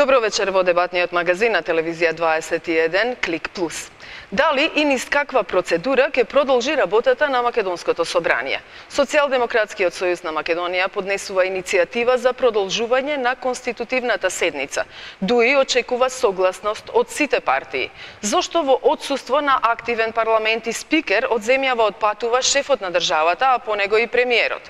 Добро вечер во дебатниот магазин на телевизија 21 Клик Плюс. Дали и низ каква процедура ќе продолжи работата на Македонското собрание? Социјалдемократскиот сојуз на Македонија поднесува иницијатива за продолжување на конститутивната седница. ДУИ очекува согласност од сите партии. Зошто во отсуство на активен парламент и спикер од земјава отпатува шефот на државата, а по него и премиерот?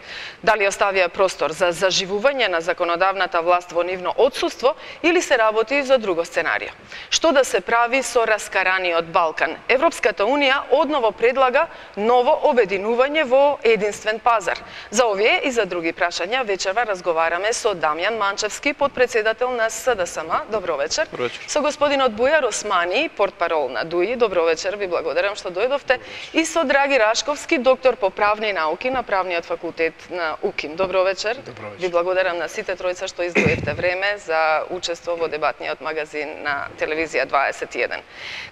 Дали оставија простор за заживување на законодавната власт во нивно отсуство или се работи за друго сценарио? Што да се прави со раскараниот Балкан? Европската Унија одново предлага ново обединување во единствен пазар. За овие и за други прашања вечерва разговараме со Дамјан Манчевски, подпредседател на СДСМ. Добро вечер. Добро вечер. Со господинот Бујар Османи, портпарол на ДУИ. Добро вечер, ви благодарам што дојдовте. И со Драги Рашковски, доктор по правни науки на Правниот факултет на УКИМ. Добро вечер. Добро вечер. Ви благодарам на сите тројца што издвоивте време за учество во дебатниот магазин на телевизија 21.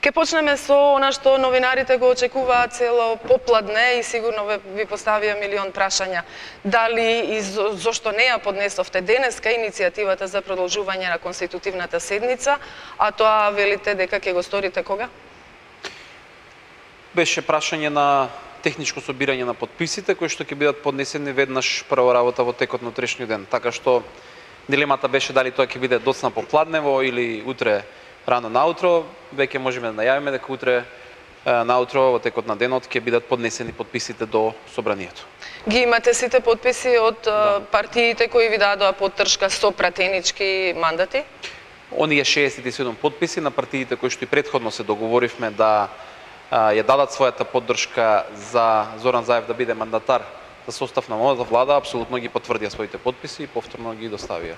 Ке почнеме со она што новинарите го очекуваат цело попладне и сигурно ви поставија милион прашања. Дали и зошто не ја поднесовте денеска иницијативата за продолжување на конститутивната седница, а тоа велите дека ќе го сторите кога? Беше прашање на техничко собирање на подписите, кои што ќе бидат поднесени веднаш прва работа во текот на утрешниот ден. Така што дилемата беше дали тоа ќе биде доцна попладнево или утре рано наутро. Веќе можеме да најавиме дека утре наутро во текот на денот ќе бидат поднесени подписите до собранието. Ги имате сите подписи од партиите кои ви дадоа поддршка со пратенички мандати? Оние 67 подписи на партиите кои што и претходно се договоривме да ја дадат својата поддршка за Зоран Заев да биде мандатар за состав на новата влада, апсолутно ги потврдија своите подписи и повторно ги доставија.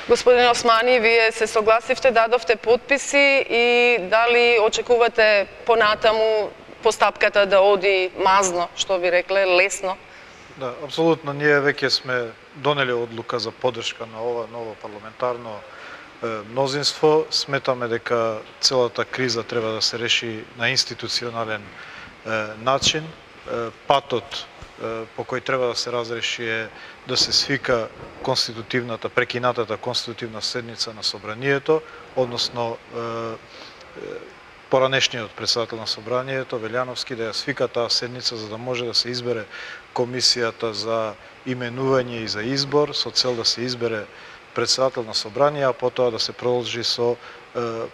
Господин Османи, вие се согласивте, дадовте подписи и дали очекувате понатаму постапката да оди мазно, што би рекле, лесно? Да, апсолутно. Ние веќе сме донели одлука за поддршка на ова ново парламентарно мнозинство. Сметаме дека целата криза треба да се реши на институционален начин. Патот по кој треба да се разреши е да се свика прекинатата конститутивна седница на собранието, односно поранешниот председател на собранието, Велјановски, да ја свика таа седница за да може да се избере комисијата за именување и за избор, со цел да се избере председател на собрание, а потоа да се продолжи со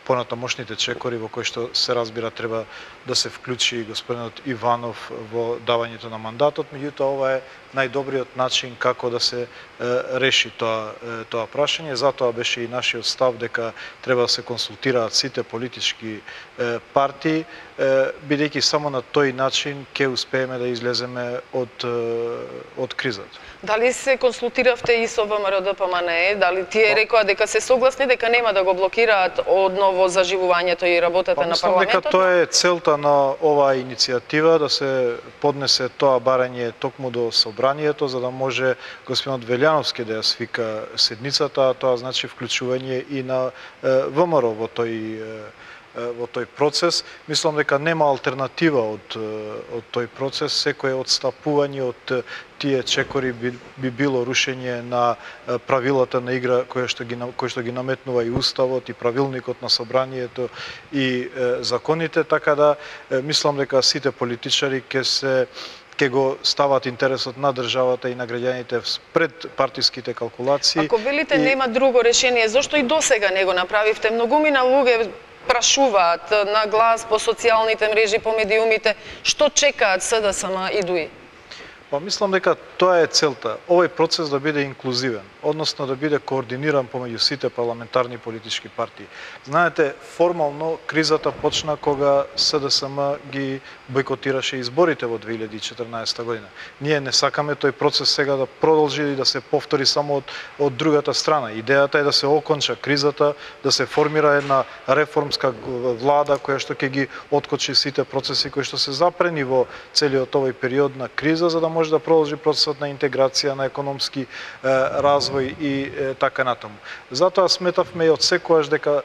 понатамошните чекори во кои што се разбира треба да се вклучи господинот Иванов во давањето на мандатот. Меѓутоа, ова е најдобриот начин како да се реши тоа прашање. Затоа беше и нашиот став дека треба да се консултираат сите политички партии, бидејќи само на тој начин ќе успееме да излеземе од кризата. Дали се консултиравте и со ВМРО-ДПМНЕ? Дали тие рекоа дека се согласни дека нема да го блокираат одново заживувањето и работата на парламентот? Мислам дека тоа е целта на оваа иницијатива, да се поднесе тоа барање токму до собранието, за да може господинот Велјановски да ја свика седницата, а тоа значи вклучување и на ВМРО во тој процес. Мислам дека нема алтернатива од тој процес. Секое одстапување од тие чекори би било рушење на правилата на игра кои што ги наметнува и уставот и правилникот на собранието и законите, така да мислам дека сите политичари ќе го стават интересот на државата и на граѓаните пред партиските калкулации. Ако велите нема друго решение, зошто и досега не го направивте? Многумина луѓе прашуваат на глас по социјалните мрежи, по медиумите, што чекаат СДСМ и ДУИ? Мислам дека тоа е целта. Овој процес да биде инклузивен, односно да биде координиран помеѓу сите парламентарни политички партии. Знаете, формално кризата почна кога СДСМ ги бойкотираше изборите во 2014 година. Ние не сакаме тој процес сега да продолжи и да се повтори само од другата страна. Идејата е да се оконча кризата, да се формира една реформска влада која што ќе ги откочи сите процеси кои што се запрени во целиот овој период на криза, за да може да продолжи процесот на интеграција, на економски развој и така натаму. Затоа сметавме и од секојаш дека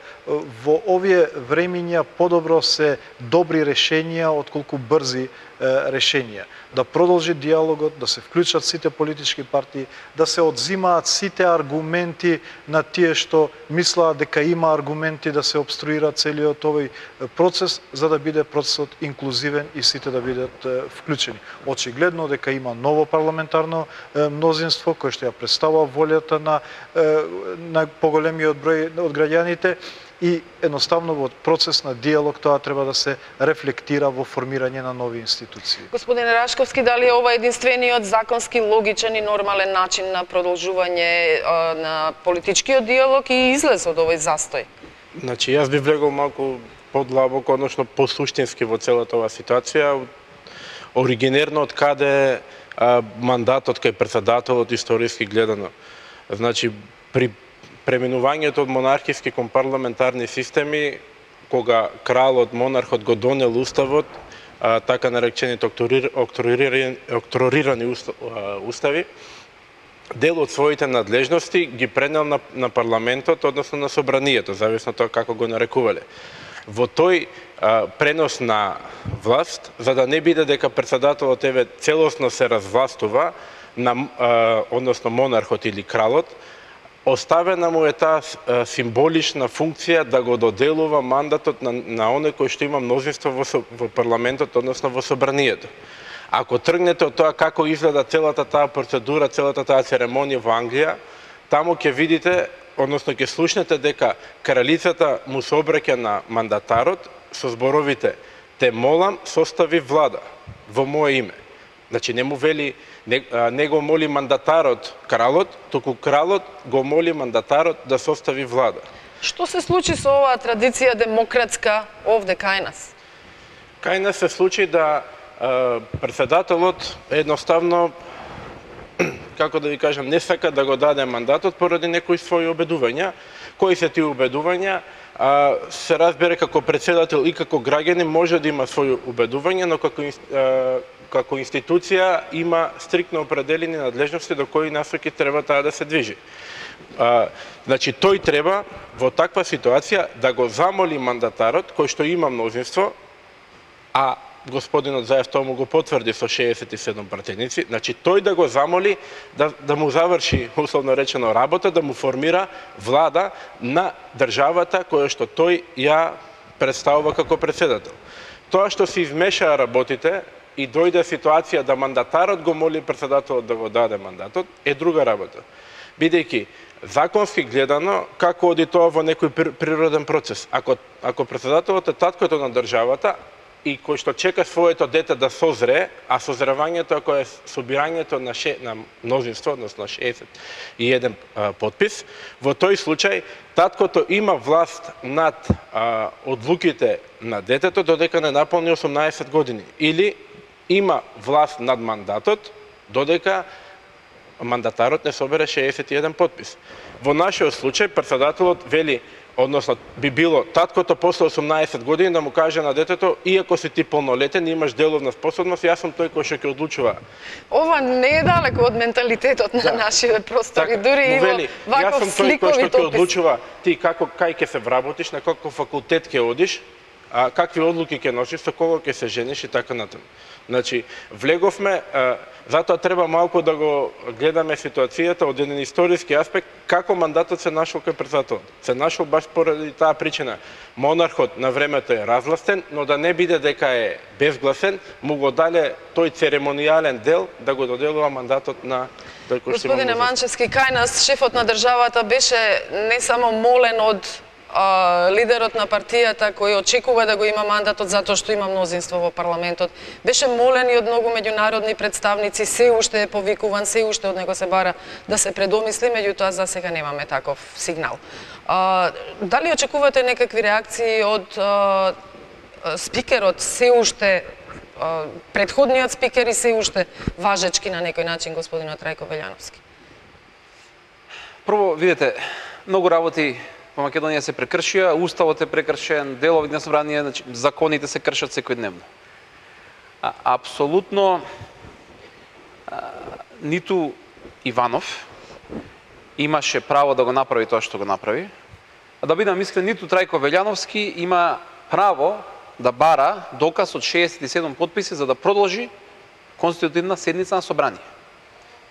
во овие времиња подобро се добри решенија отколку брзи решенија. Да продолжи диалогот, да се вклучат сите политички партии, да се одзимаат сите аргументи на тие што мислаат дека има аргументи да се обструира целиот овој процес, за да биде процесот инклузивен и сите да бидат вклучени. Очигледно дека има ново парламентарно мнозинство кој што ја представува волјата на поголемиот број од граѓаните, и едноставно во процес на диалог тоа треба да се рефлектира во формирање на нови институции. Господин Рашковски, дали е ова единствениот законски логичен и нормален начин на продолжување на политичкиот диалог и излез од овој застој? Значи, јас би влегол малку подлабоко, односно посуштински во целата оваа ситуација, оригинерно од каде мандатот кај претседателот историски гледано. Значи, при преминувањето од монархиски кон парламентарни системи, кога кралот, монархот го донел уставот, така наречените октрорирани устави, дел од своите надлежности ги пренел на парламентот, односно на собранието, зависно тоа како го нарекувале. Во тој пренос на власт, за да не биде дека претседателот целосно се развластува, односно монархот или кралот, оставена му е таа символична функција да го доделува мандатот на оној кој што има мнозинство во парламентот, односно во собранието. Ако тргнете од тоа како изгледа целата таа процедура, целата таа церемонија во Англија, таму ќе видите, односно ќе слушнете дека кралицата му се обраќа на мандатарот со зборовите: "Те молам, состави влада во мое име." Значи не му вели, не го моли мандатарот кралот, туку кралот го моли мандатарот да состави влада. Што се случи со оваа традиција демократска овде кај нас? Кај нас се случи да претседателот едноставно, како да ви кажам, не сака да го даде мандатот поради некои своји обедувања. Кои се тие обедувања? Се разбере како претседател и како граѓанин може да има своји обедувања, но како институција има стриктно определени надлежности до кои насоки треба таа да се движи. Значи, тој треба во таква ситуација да го замоли мандатарот, кој што има мнозинство, а господинот Заев тоа му го потврди со 67 пратеници, значи тој да го замоли да му заврши, условно речено, работа, да му формира влада на државата која што тој ја представува како претседател. Тоа што се измешаа работите и дојде ситуација да мандатарот го моли претседателот да го даде мандатот, е друга работа. Бидејќи законски гледано, како оди тоа во некој природен процес. Ако претседателот е таткото на државата и кој што чека своето дете да созре, а созревањето кое е собирањето на мнозинство, односно 61 подпис, во тој случај таткото има власт над одлуките на детето додека не наполни 18 години, или има власт над мандатот додека мандатарот не собере 61 подпис. Во нашиот случај претседателот вели, односно би било таткото после 18 години да му каже на детето: иако си ти полнолетен, имаш деловна способност, јас сум тој кој што ќе одлучува. Ова не е далеко од менталитетот на нашите простори, дури и во ваков сликовит опис. Јас сум тој кој што ќе одлучува ти кај ќе се вработиш, на каков факултет ќе одиш, какви одлуки ќе носиш, со кого ќе се жениш и така натаму. Значи, влеговме, затоа треба малку да го гледаме ситуацијата од еден историски аспект, како мандатот се нашол кај претседателот. Се нашол баш поради таа причина. Монархот на времето е разгласен, но да не биде дека е безгласен, му го дале тој церемонијален дел да го доделува мандатот на тој кој што има. Господине Манчевски, кај нас шефот на државата беше не само молен од лидерот на партијата кој очекува да го има мандатот затоа што има мнозинство во парламентот. Беше молен и од многу меѓународни представници, се уште е повикуван, се уште од него се бара да се предомисли, меѓутоа за сега немаме таков сигнал. Дали очекувате некакви реакции од спикерот, се уште претходниот спикер и се уште важечки на некој начин господинот Рајко Велјановски? Прво, видите, многу работи во Македонија се прекршија, уставот е прекршен, делови на собрание, значи, законите се кршат секојдневно. Апсолутно ниту Иванов имаше право да го направи тоа што го направи, а да бидам искрен, ниту Трајко Велјановски има право да бара доказ од 67 потписи за да продолжи конститутивна седница на собрание.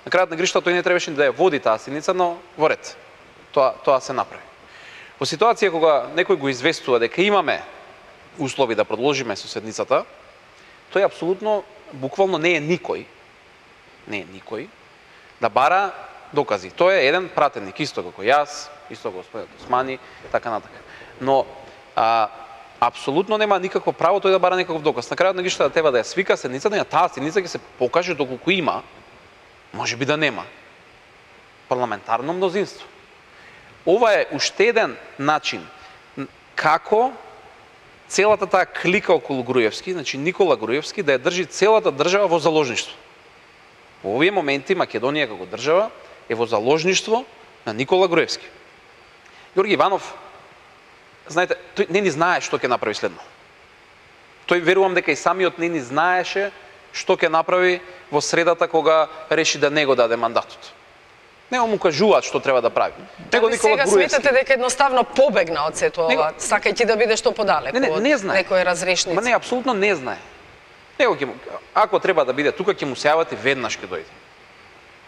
На крајот на гришта тој не требаше да ја води таа седница, но во ред. Тоа се направи. Во ситуација кога некој го известува дека имаме услови да продолжиме со седницата, тој апсолутно, буквално не е никој да бара докази. Тој е еден пратеник, исто како јас, исто како господин Османи, така натака. Но апсолутно нема никакво право тој да бара некаков доказ. На крајот на гришта да треба да ја свика седницата, на таа седница ќе се покаже доколку има, можеби да нема парламентарно мнозинство. Ова е уште еден начин како целата таа клика околу Груевски, значи Никола Груевски, да ја држи целата држава во заложништво. Во овие моменти Македонија како држава е во заложништво на Никола Груевски. Ѓорги Иванов, знаете, тој не ни знае што ќе направи следно. Тој верувам дека и самиот не ни знаеше што ќе направи во средата кога реши да не го даде мандатот. Не му кажуваат што треба да прави. Него Никола Груевски. Сега сметате дека едноставно побегна од сето ова, сакајќи да биде што подалеку од некој разрешници. Ма не, апсолутно не знае. Него ќе ако треба да биде тука ќе му се јават и веднаш ќе дојде.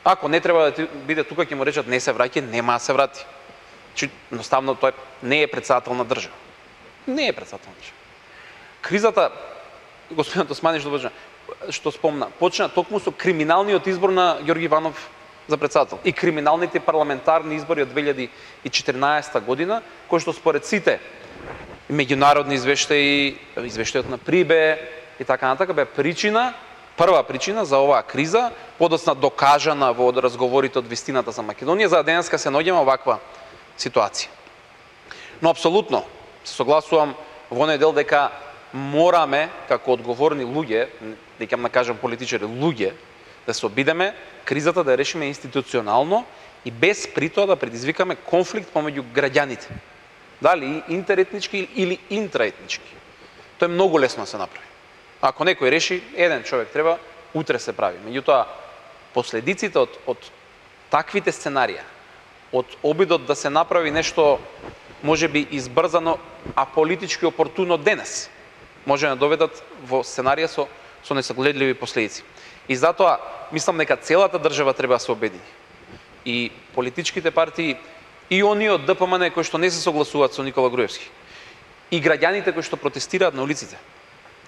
Ако не треба да биде тука ќе му речат не се враќа, нема да се врати. Значи едноставно тој не е претседател на држава. Не е претседател на држава. Кризата, господин Османи што спомна, почна токму со криминалниот избор на Ѓорги Иванов за претседател и криминалните парламентарни избори од 2014 година, кои што според сите меѓународни извештаи, извештајот на Прибе и така натака бе прва причина за оваа криза, подоцна докажана во разговорите од вистината за Македонија, за денеска се наоѓаме оваква ситуација. Но апсолутно се согласувам во оној дел дека мораме како одговорни луѓе, дека ќе кажам политичари, луѓе, да се обидеме кризата да решиме институционално и без при тоа да предизвикаме конфликт помеѓу граѓаните. Дали интеретнички или интраетнички. Тоа е многу лесно да се направи. Ако некој реши, еден човек треба, утре се прави. Меѓутоа, последиците од таквите сценарија, од обидот да се направи нешто можеби избрзано, а политички опортуно денес, може да доведат во сценарија со несагледливи последици. И затоа, мислам дека целата држава треба да се обедини. И политичките партии, и оние од ДПМН кои што не се согласуваат со Никола Груевски, и граѓаните кои што протестираат на улиците,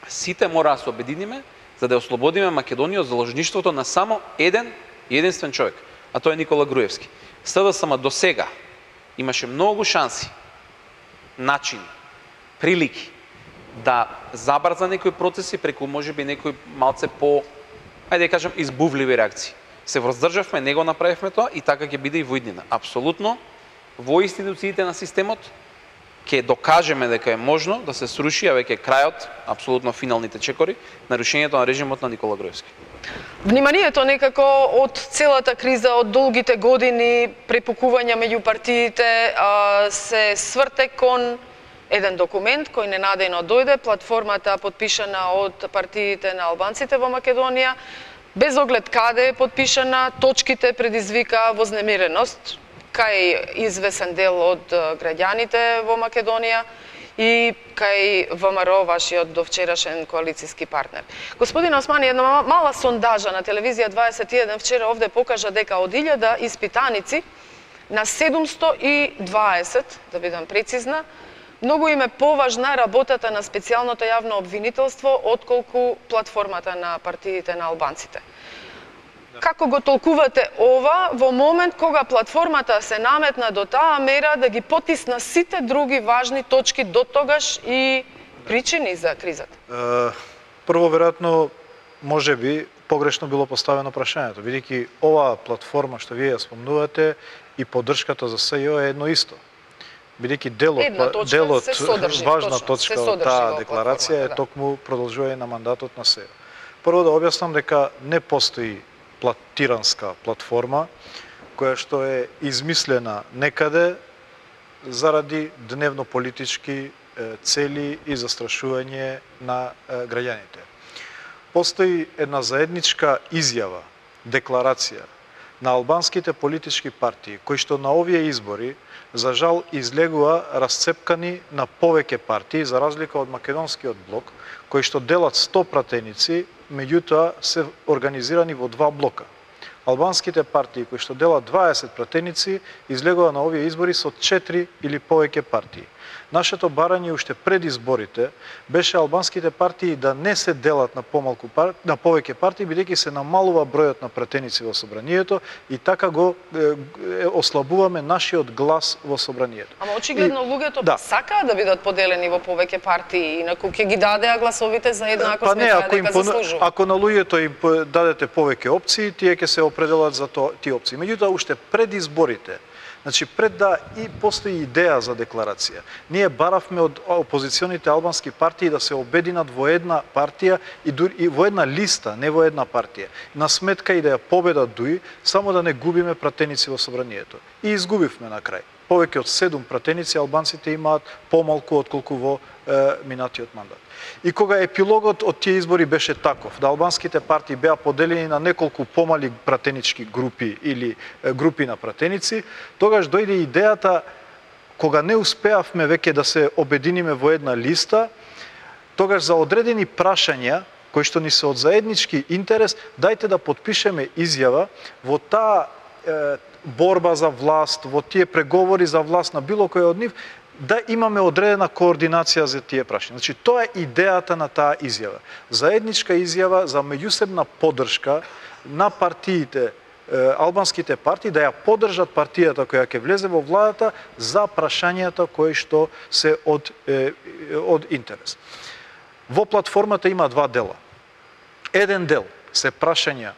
сите мора да се обединиме за да ослободиме Македонија од заложништвото на само еден и единствен човек, а тоа е Никола Груевски. СДСМ до сега имаше многу шанси, начини, прилики да забрза некои процеси преку можеби некои малце по, ајде да кажам, избувливи реакции. Се воздржавме, не го направивме тоа и така ќе биде и во иднина. Апсолутно, во институциите на системот ќе докажеме дека е можно да се сруши, а веќе крајот, апсолутно финалните чекори, нарушението на режимот на Никола Груевски. Вниманието некако од целата криза, од долгите години препукувања меѓу партиите се сврте кон еден документ кој ненадејно дојде, платформата подпишана од партиите на албанците во Македонија, без оглед каде е подпишана, точките предизвика вознемиреност кај извесен дел од граѓаните во Македонија и кај ВМРО, вашиот довчерашен коалициски партнер. Господин Османи, една мала сондажа на телевизија 21 вчера овде покажа дека од 1000 испитаници на 720, да бидам прецизна, многу им е поважна работата на специјалното јавно обвинителство отколку платформата на партиите на албанците. Како го толкувате ова во момент кога платформата се наметна до таа мера да ги потисна сите други важни точки до тогаш и причини за кризата? Прво, веројатно, можеби погрешно било поставено прашањето, бидејќи оваа платформа што вие ја спомнувате и поддршката за СЈО е едно исто. Бидејќи делот важна точка од таа декларација е токму продолжување на мандатот на СЈО. Прво да објаснам дека не постои тиранска платформа која што е измислена некаде заради дневно политички цели и застрашување на граѓаните. Постои една заедничка изјава декларација на албанските политички партии, кои што на овие избори, за жал, излегува расцепкани на повеќе партии, за разлика од македонскиот блок, кои што делат 100 пратеници, меѓутоа се организирани во 2 блока. Албанските партии кои што делат 20 пратеници, излегува на овие избори со 4 или повеќе партии. Нашето барање уште пред изборите беше албанските партии да не се делат на повеќе партии, бидејќи се намалува бројот на пратеници во собранието и така го ослабуваме нашиот глас во собранието. Ама очигледно луѓето сакаат да бидат поделени во повеќе партии, инаку ќе ги дадеа гласовите за еднакост, дека заслужуваат. Ако на луѓето им дадете повеќе опции, тие ќе се определат за тие опции. Меѓутоа уште пред изборите, значи, пред да и постои идеја за декларација, ние баравме од опозиционите албански партии да се обединат во една партија и во една листа, не во една партија. На сметка и да ја победат дуи, само да не губиме пратеници во собранието. И изгубивме на крај. Повеќе од 7 пратеници албанците имаат помалку отколку во минатиот мандат. И кога епилогот од тие избори беше таков, да албанските партии беа поделени на неколку помали пратенички групи или групи на пратеници, тогаш дојде идејата, кога не успеавме веќе да се обединиме во една листа, тогаш за одредени прашања, кои што ни се од заеднички интерес, дајте да подпишеме изјава во таа борба за власт, во тие преговори за власт на било кој од нив, да имаме одредена координација за тие прашања. Значи, тоа е идејата на таа изјава. Заедничка изјава за меѓусебна поддршка на партиите, албанските партии, да ја поддржат партијата која ќе влезе во владата за прашањата кои што се од интерес. Во платформата има 2 дела. Еден дел се прашања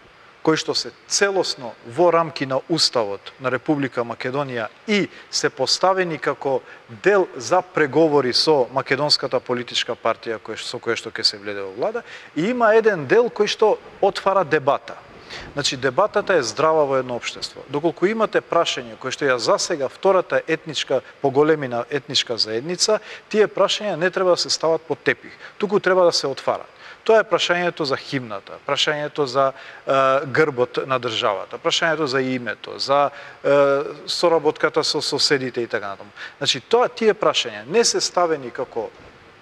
кои што се целосно во рамки на Уставот на Република Македонија и се поставени како дел за преговори со македонската политичка партија со која што ќе се влезе во влада, и има еден дел кој што отвара дебата. Значи, дебатата е здрава во едно општество. Доколку имате прашање кои што ја засега втората етничка, поголемина етничка заедница, тие прашања не треба да се стават под тепих, туку треба да се отварат. Тоа е прашањето за химната, прашањето за грбот на државата, прашањето за името, за соработката со соседите и така натаму. Значи, тие прашања не се ставени како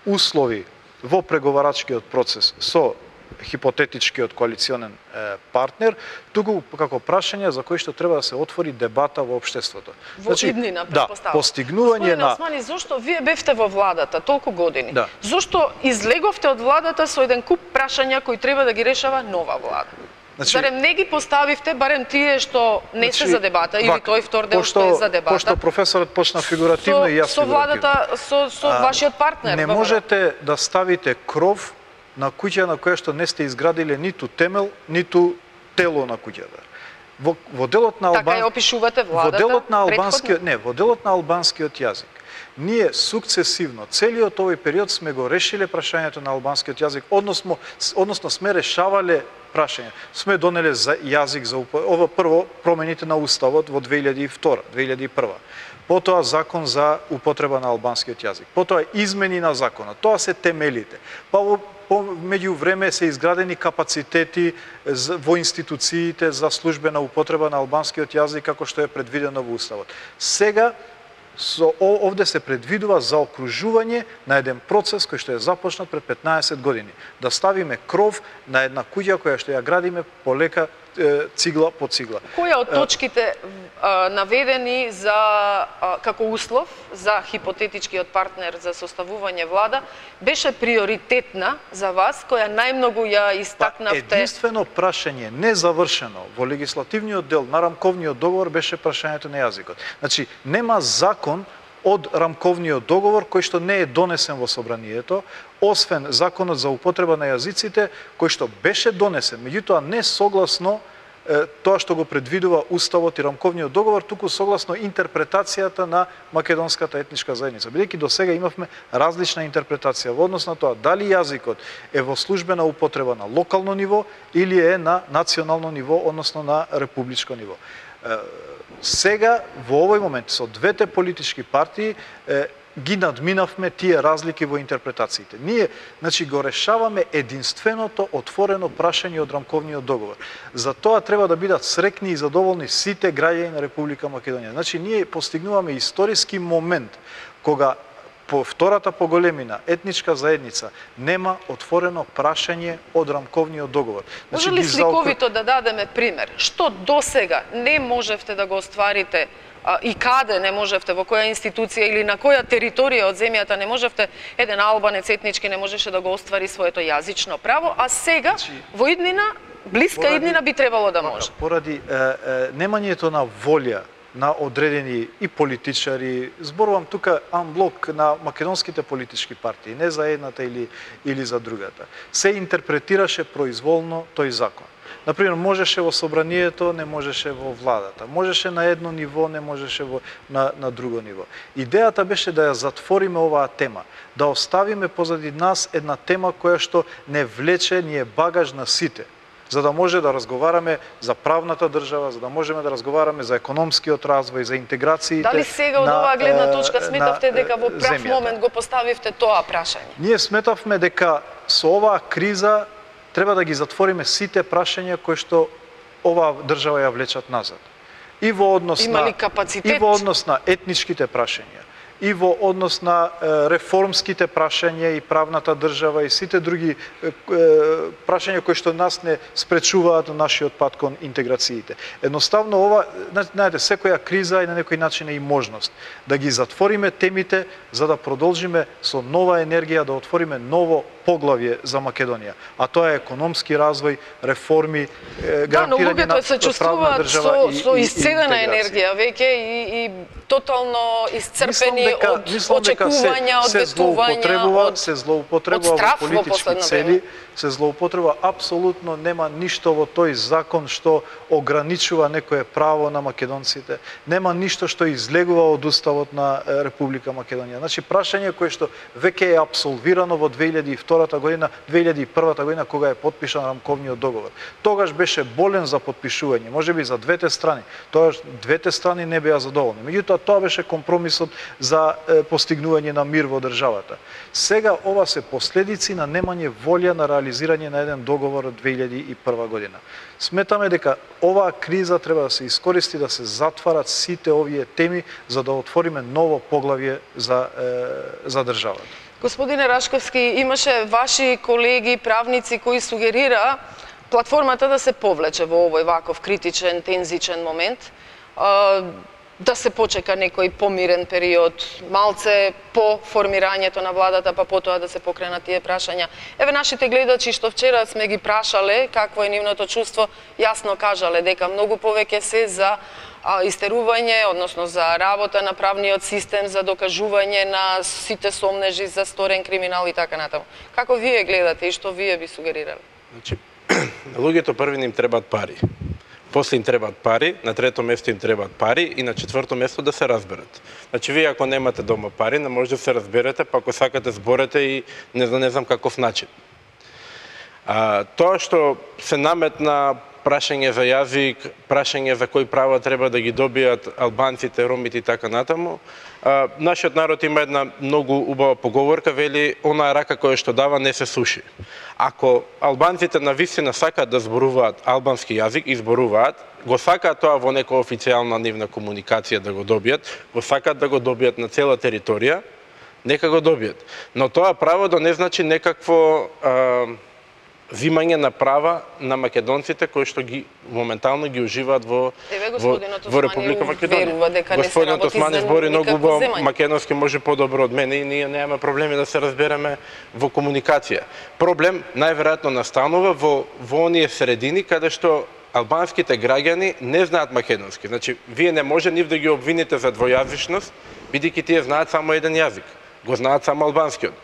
услови во преговарачкиот процес со хипотетичкиот коалиционен партнер, туку како прашања за кои што треба да се отвори дебата во општеството. Во иднина, предпоставам. Да, постигнување на... Османи, зошто вие бевте во владата толку години? Да. Зошто излеговте од владата со еден куп прашања кои треба да ги решава нова влада? Значи, зарем не ги поставивте, барем тие што не се за дебата, или тој втор дел што е за дебата? Пошто професорот почна фигуративно и јас со владата, со вашиот партнер. Не можете да ставите кров на куќа на која што не сте изградиле ниту темел, ниту тело на куќата. Во делот на така ја опишувате владата? Во делот на албанскиот јазик. Ние сукцесивно, целиот овој период сме го решиле прашањето на албанскиот јазик, односно сме решавале прашања. Сме донеле за јазик за ова прво промените на уставот во 2001. Потоа закон за употреба на албанскиот јазик. Потоа измени на законот. Тоа се темелите. Меѓу време се изградени капацитети во институциите за службена употреба на албанскиот јазик како што е предвидено во уставот. Сега овде се предвидува заокружување на еден процес кој што е започнат пред 15 години. Да ставиме кров на една куќа која што ја градиме полека цигла по цигла. Која од точките наведени како услов за хипотетичкиот партнер за составување влада беше приоритетна за вас, која најмногу ја истакнавте? Единствено прашање незавршено во легислативниот дел на рамковниот договор беше прашањето на јазикот. Значи, нема закон од рамковниот договор кој што не е донесен во собранието, освен законот за употреба на јазиците кој што беше донесен, меѓутоа не согласно тоа што го предвидува уставот и рамковниот договор, туку согласно интерпретацијата на македонската етничка заедница. Бидејќи до сега имавме различна интерпретација во однос на тоа дали јазикот е во службена употреба на локално ниво или е на национално ниво, односно на републичко ниво. Сега, во овој момент, со двете политички партии, ги надминавме тие разлики во интерпретациите. Ние, значи, го решаваме единственото отворено прашање од рамковниот договор. За тоа треба да бидат срекни и задоволни сите граѓани на Република Македонија. Значи, ние постигнуваме историски момент кога по втората поголемина етничка заедница нема отворено прашање од рамковниот договор. Може ли сликовито да дадеме пример? Што досега не можевте да го остварите и каде не можевте, во која институција или на која територија од земјата не можевте, еден албанец етнички не можеше да го оствари своето јазично право, а сега во иднина, блиска иднина би требало да може? Поради немањето на волја на одредени и политичари, зборувам тука амблок на македонските политички партии, не за едната или за другата, се интерпретираше произволно тој закон. Например, можеше во собранието, не можеше во владата. Можеше на едно ниво, не можеше на друго ниво. Идејата беше да ја затвориме оваа тема, да оставиме позади нас една тема која што не влече, ни е багаж на сите, за да може да разговараме за правната држава, за да можеме да разговараме за економскиот развој, за интеграциите. Дали сега од оваа гледна точка сметавте дека во прав момент го поставивте тоа прашање? Ние сметавме дека со оваа криза треба да ги затвориме сите прашања кои што оваа држава ја влечат назад. И во однос на етничките прашања, и во однос на реформските прашања и правната држава и сите други прашања кои што нас не спречуваат на нашиот пат кон интеграциите. Едноставно ова, знаете, секоја криза е на некој начин и можност да ги затвориме темите за да продолжиме со нова енергија да отвориме ново поглавје за Македонија, а тоа е економски развој, реформи, гарантирање на правна држава со исцедена енергија веќе и тотално исцрпени од очекувања, од ветувања, се злоупотребува во политички цели, се злоупотреба, апсолутно нема ништо во тој закон што ограничува некое право на македонците, нема ништо што излегува од уставот на Република Македонија. Значи прашање кое што веќе е апсолвирано во 2002 година, 2001 година кога е подпишан рамковниот договор. Тогаш беше болен за подпишување, можеби за двете страни. Тогаш двете страни не беа задоволни. Меѓутоа тоа беше компромисот за постигнување на мир во државата. Сега ова се последици на немање волја на реализирање на еден договор од 2001 година. Сметаме дека оваа криза треба да се искористи да се затварат сите овие теми за да отвориме ново поглавје за државата. Господине Рашковски, имаше ваши колеги правници кои сугерира платформата да се повлече во овој ваков критичен, тензичен момент, да се почека некој помирен период, малце по формирањето на владата, па потоа да се покренат тие прашања. Еве нашите гледачи што вчера сме ги прашале какво е нивното чувство, јасно кажале дека многу повеќе се за истерување, односно за работа на правниот систем, за докажување на сите сомнежи за сторен криминал и така натаму. Како вие гледате и што вие би сугерирале? Значи, на луѓето први им требаат пари. После им требаат пари, на трето место им требаат пари и на четврто место да се разберат. Значи, вие ако немате дома пари, не може да се разберете, па ако сакате зборете и не знам каков начин. Тоа што се наметна прашање за јазик, прашање за кои права треба да ги добијат албанците, ромите и така натаму, нашиот народ има една многу убава поговорка, вели, онаа рака која што дава не се суши. Ако албанците навистина сакаат да зборуваат албански јазик и зборуваат, го сакаат тоа во нека официјална нивна комуникација да го добијат, го сакаат да го добијат на цела територија, нека го добијат. Но тоа право да не значи некакво зимање на права на македонците кои што ги моментално ги уживаат во Република Македонија. Господинот Османи збори многу убаво македонски, може подобро од мене и ние немаме проблеми да се разбереме во комуникација. Проблем најверојатно настанува во оние средини каде што албанските граѓани не знаат македонски. Значи, вие не може нив да ги обвините за двојазичност, бидејќи тие знаат само еден јазик. Го знаат само албанскиот.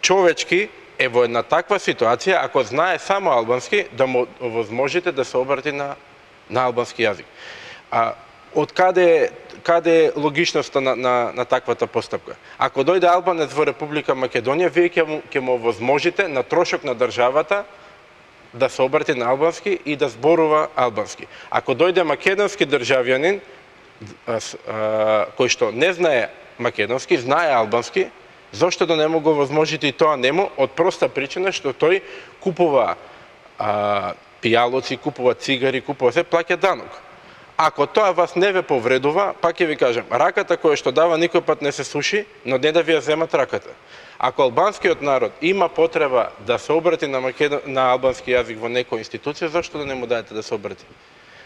Човечки е во една таква ситуација, ако знае само албански, да му овозможите да се обрати на албански јазик. Од каде е логичноста на таквата постапка? Ако дојде албанец во Република Македонија, вие ќе му овозможите на трошок на државата да се обрати на албански и да зборува албански. Ако дојде македонски државјанин кој што не знае македонски, знае албански, зошто да не му го возможите и тоа нему, од проста причина што тој купува пијалоци, купува цигари, купува се, плаќа данок. Ако тоа вас не ве повредува, пак ќе ви кажам, раката која што дава никој пат не се суши, но не да ви ја земат раката. Ако албанскиот народ има потреба да се обрати на албански јазик во некоја институција, зашто да не му дадете да се обрати?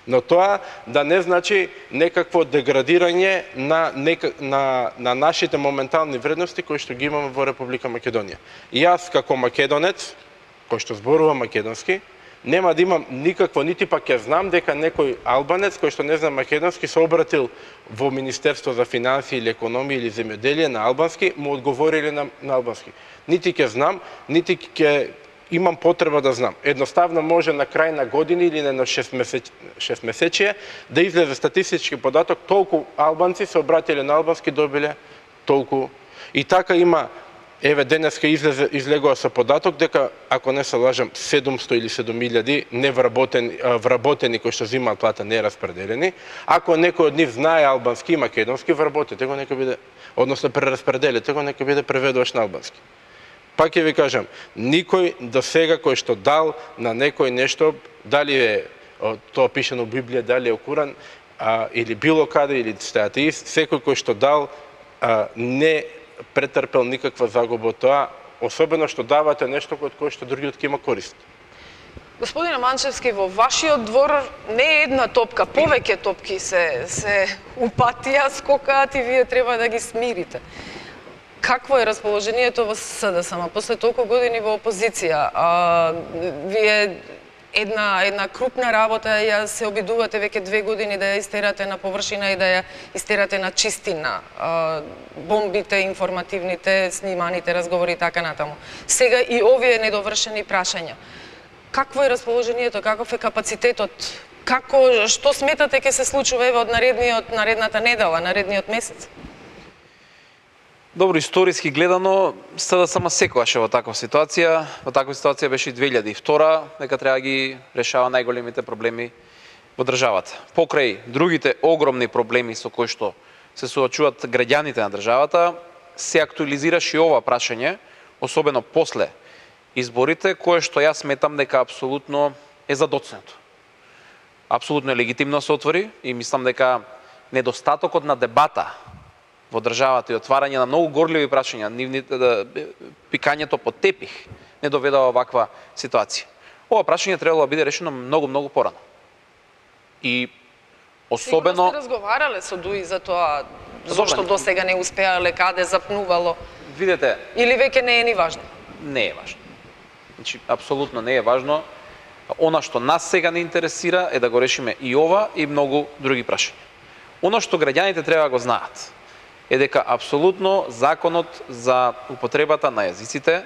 Но тоа да не значи некакво деградирање на нашите моментални вредности кои што ги имаме во Република Македонија. Јас како македонец, кој што зборува македонски, нема да имам никакво, нити пак ја знам дека некој албанец кој што не знам македонски се обратил во Министерство за финансии или економија или земјоделие на албански, му одговорили на албански. Нити ќе знам, нити ќе имам потреба да знам. Едноставно може на крај на години или на 6 месечие да излезе статистички податок, толку албанци се обратиле на албански, добиле толку. И така има, еве денеска излегува со податок дека, ако не се лажам, 700 или 7000 вработени кои што земаат плата не распределени. Ако некој од нив знае албански и македонски, вработете го, нека биде, односно прераспределите го, нека биде преведуваш на албански. Пак ќе ви кажам, никој до сега кој што дал на некој нешто, дали е тоа пишено во Библија, дали е во Куран, или било каде, или сте атеист, секој кој што дал не претрпел никаква загуба од тоа, особено што давате нешто од кое што другиот ќе има корист. Господине Манчевски, во вашиот двор не е една топка, повеќе топки се упатија, скокаат и вие треба да ги смирите. Какво е расположението во СДСМ после толку години во опозиција? Вие една крупна работа ја се обидувате веќе 2 години да ја истерате на површина и да ја истерате на чистина. Бомбите, информативните, сниманите разговори и така натаму. Сега и овие недовршени прашања. Какво е расположението, каков е капацитетот? Што сметате ќе се случува од наредната недела, наредниот месец? Добро, историски гледано, СДСМ секогаш во таква ситуација. Во таква ситуација беше и 2002, дека треба ги решава најголемите проблеми во државата. Покрај другите огромни проблеми со кои што се соочуваат граѓаните на државата, се актуализираше и ова прашање, особено после изборите, кое што јас сметам дека апсолутно е задоцнето. Апсолутно е легитимно се отвори и мислам дека недостатокот на дебата во државата и отварање на многу горливи прашања, пикањето под тепих, не доведе до оваква ситуација. Ова прашање требало да биде решено многу порано. И особено... Сигурно сте разговарале со ДУИ за тоа, зошто до сега не успеале, каде запнувало? Видете... Или веќе не е ни важно? Не е важно. Значи, апсолутно не е важно. Она што нас сега не интересира е да го решиме и ова и многу други прашања. Оно што граѓаните треба да го знаат е дека апсолутно законот за употребата на јазиците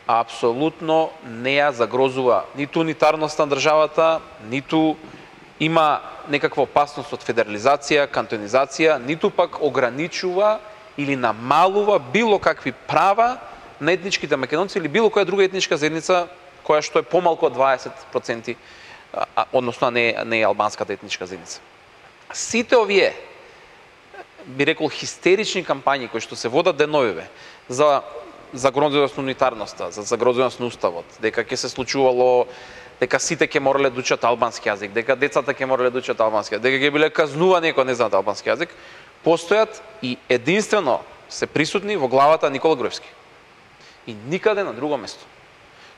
апсолутно не ја загрозува ниту унитарноста на државата, ниту има некаква опасност од федерализација, кантонизација, ниту пак ограничува или намалува било какви права на етничките македонци или било која друга етничка заедница која што е помалку од 20%, односно не е албанската етничка заедница. Сите овие, би рекол, хистерични кампањи кои што се водат деновиве за загрозеност на унитарноста, за загрозеност на уставот, дека ќе се случувало, дека сите ќе морале да учат албански јазик, дека децата ќе морале да учат албански јазик, дека ќе биле казнувани ако не знаат албански јазик, постојат и единствено се присутни во главата на Никола Груевски. И никаде на друго место.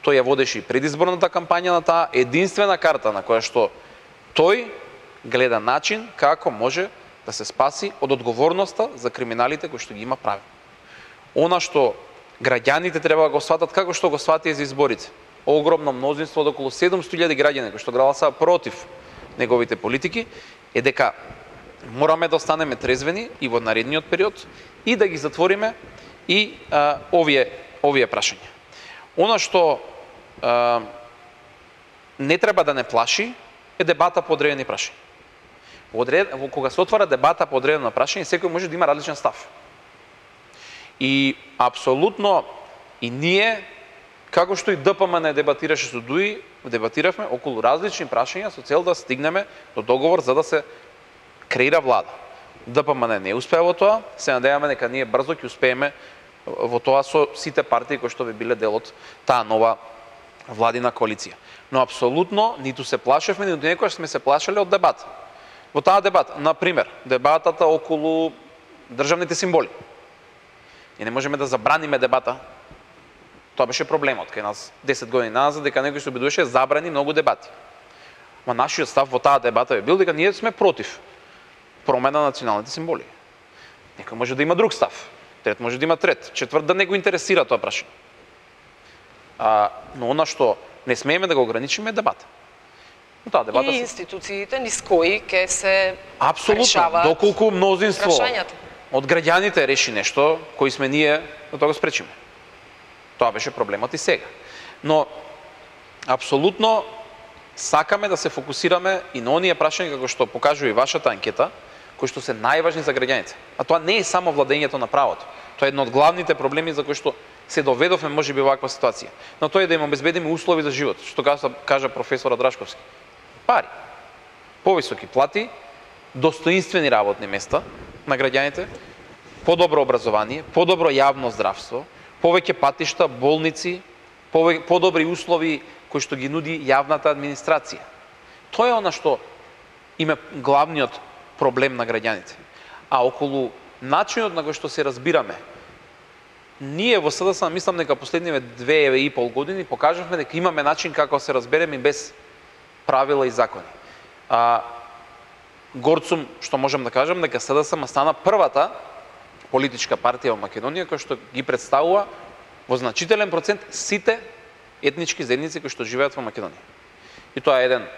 Тој ја водеше и предизборната кампања на таа единствена карта на која што тој гледа начин како може да се спаси од одговорноста за криминалите кои што ги има прави. Она што граѓаните треба да го сватат како што го сватија за изборите. Огромно мнозинство од околу 700.000 граѓани кои што гласаа против неговите политики е дека мораме да останеме трезвени и во наредниот период и да ги затвориме и овие прашања. Она што не треба да не плаши е дебата по одредени прашања. Кога се отвара дебата по одредено прашање, секој може да има различен став. И апсолутно и ние, како што и ДПМН дебатираше со ДУИ, дебатиравме околу различни прашања со цел да стигнеме до договор за да се креира влада. ДПМН не успеа во тоа, се надеваме дека ние брзо ќе успееме во тоа со сите партии кои што би биле дел од таа нова владина коалиција. Но апсолутно ниту се плашевме, ниту некогаш сме се плашеле од дебата. Во таа дебата, например, дебатата околу државните символи. И не можеме да забраниме дебата. Тоа беше проблемот кај нас 10 години назад, дека некој се обидуваше забрани многу дебати. Ма нашиот став во таа дебата е бил дека ние сме против промена на националните символи. Некој може да има друг став, трет може да има трет, четврт да не го интересира тоа прашање. Но она што не смееме да го ограничиме е дебата. Таа дебата и институциите низ кои ќе се апсолутно, решаваат доколку мнозинство прашањата од граѓаните реши нешто, кои сме ние, да тоа го спречиме. Тоа беше проблемот и сега. Но апсолутно сакаме да се фокусираме и на оние прашања како што покажува и вашата анкета, кои што се најважни за граѓаните. А тоа не е само владењето на правото. Тоа е едно од главните проблеми за кои што се доведовме можеби во ваква ситуација. Но тоа е да им обезбедиме услови за живот, што кажа професорот Рашковски. Пари, повисоки плати, достоинствени работни места на граѓаните, подобро образование, подобро јавно здравство, повеќе патишта, болници, подобри услови кои што ги нуди јавната администрација. Тоа е она што има главниот проблем на граѓаните. А околу начинот на кој што се разбираме, ние во СДС мислам дека последниве 2,5 години покажавме дека имаме начин како се разбереме без правила и закони. Горд сум што можам да кажам дека СДС стана првата политичка партија во Македонија која што ги представува во значителен процент сите етнички заедници кои што живеат во Македонија. И тоа е еден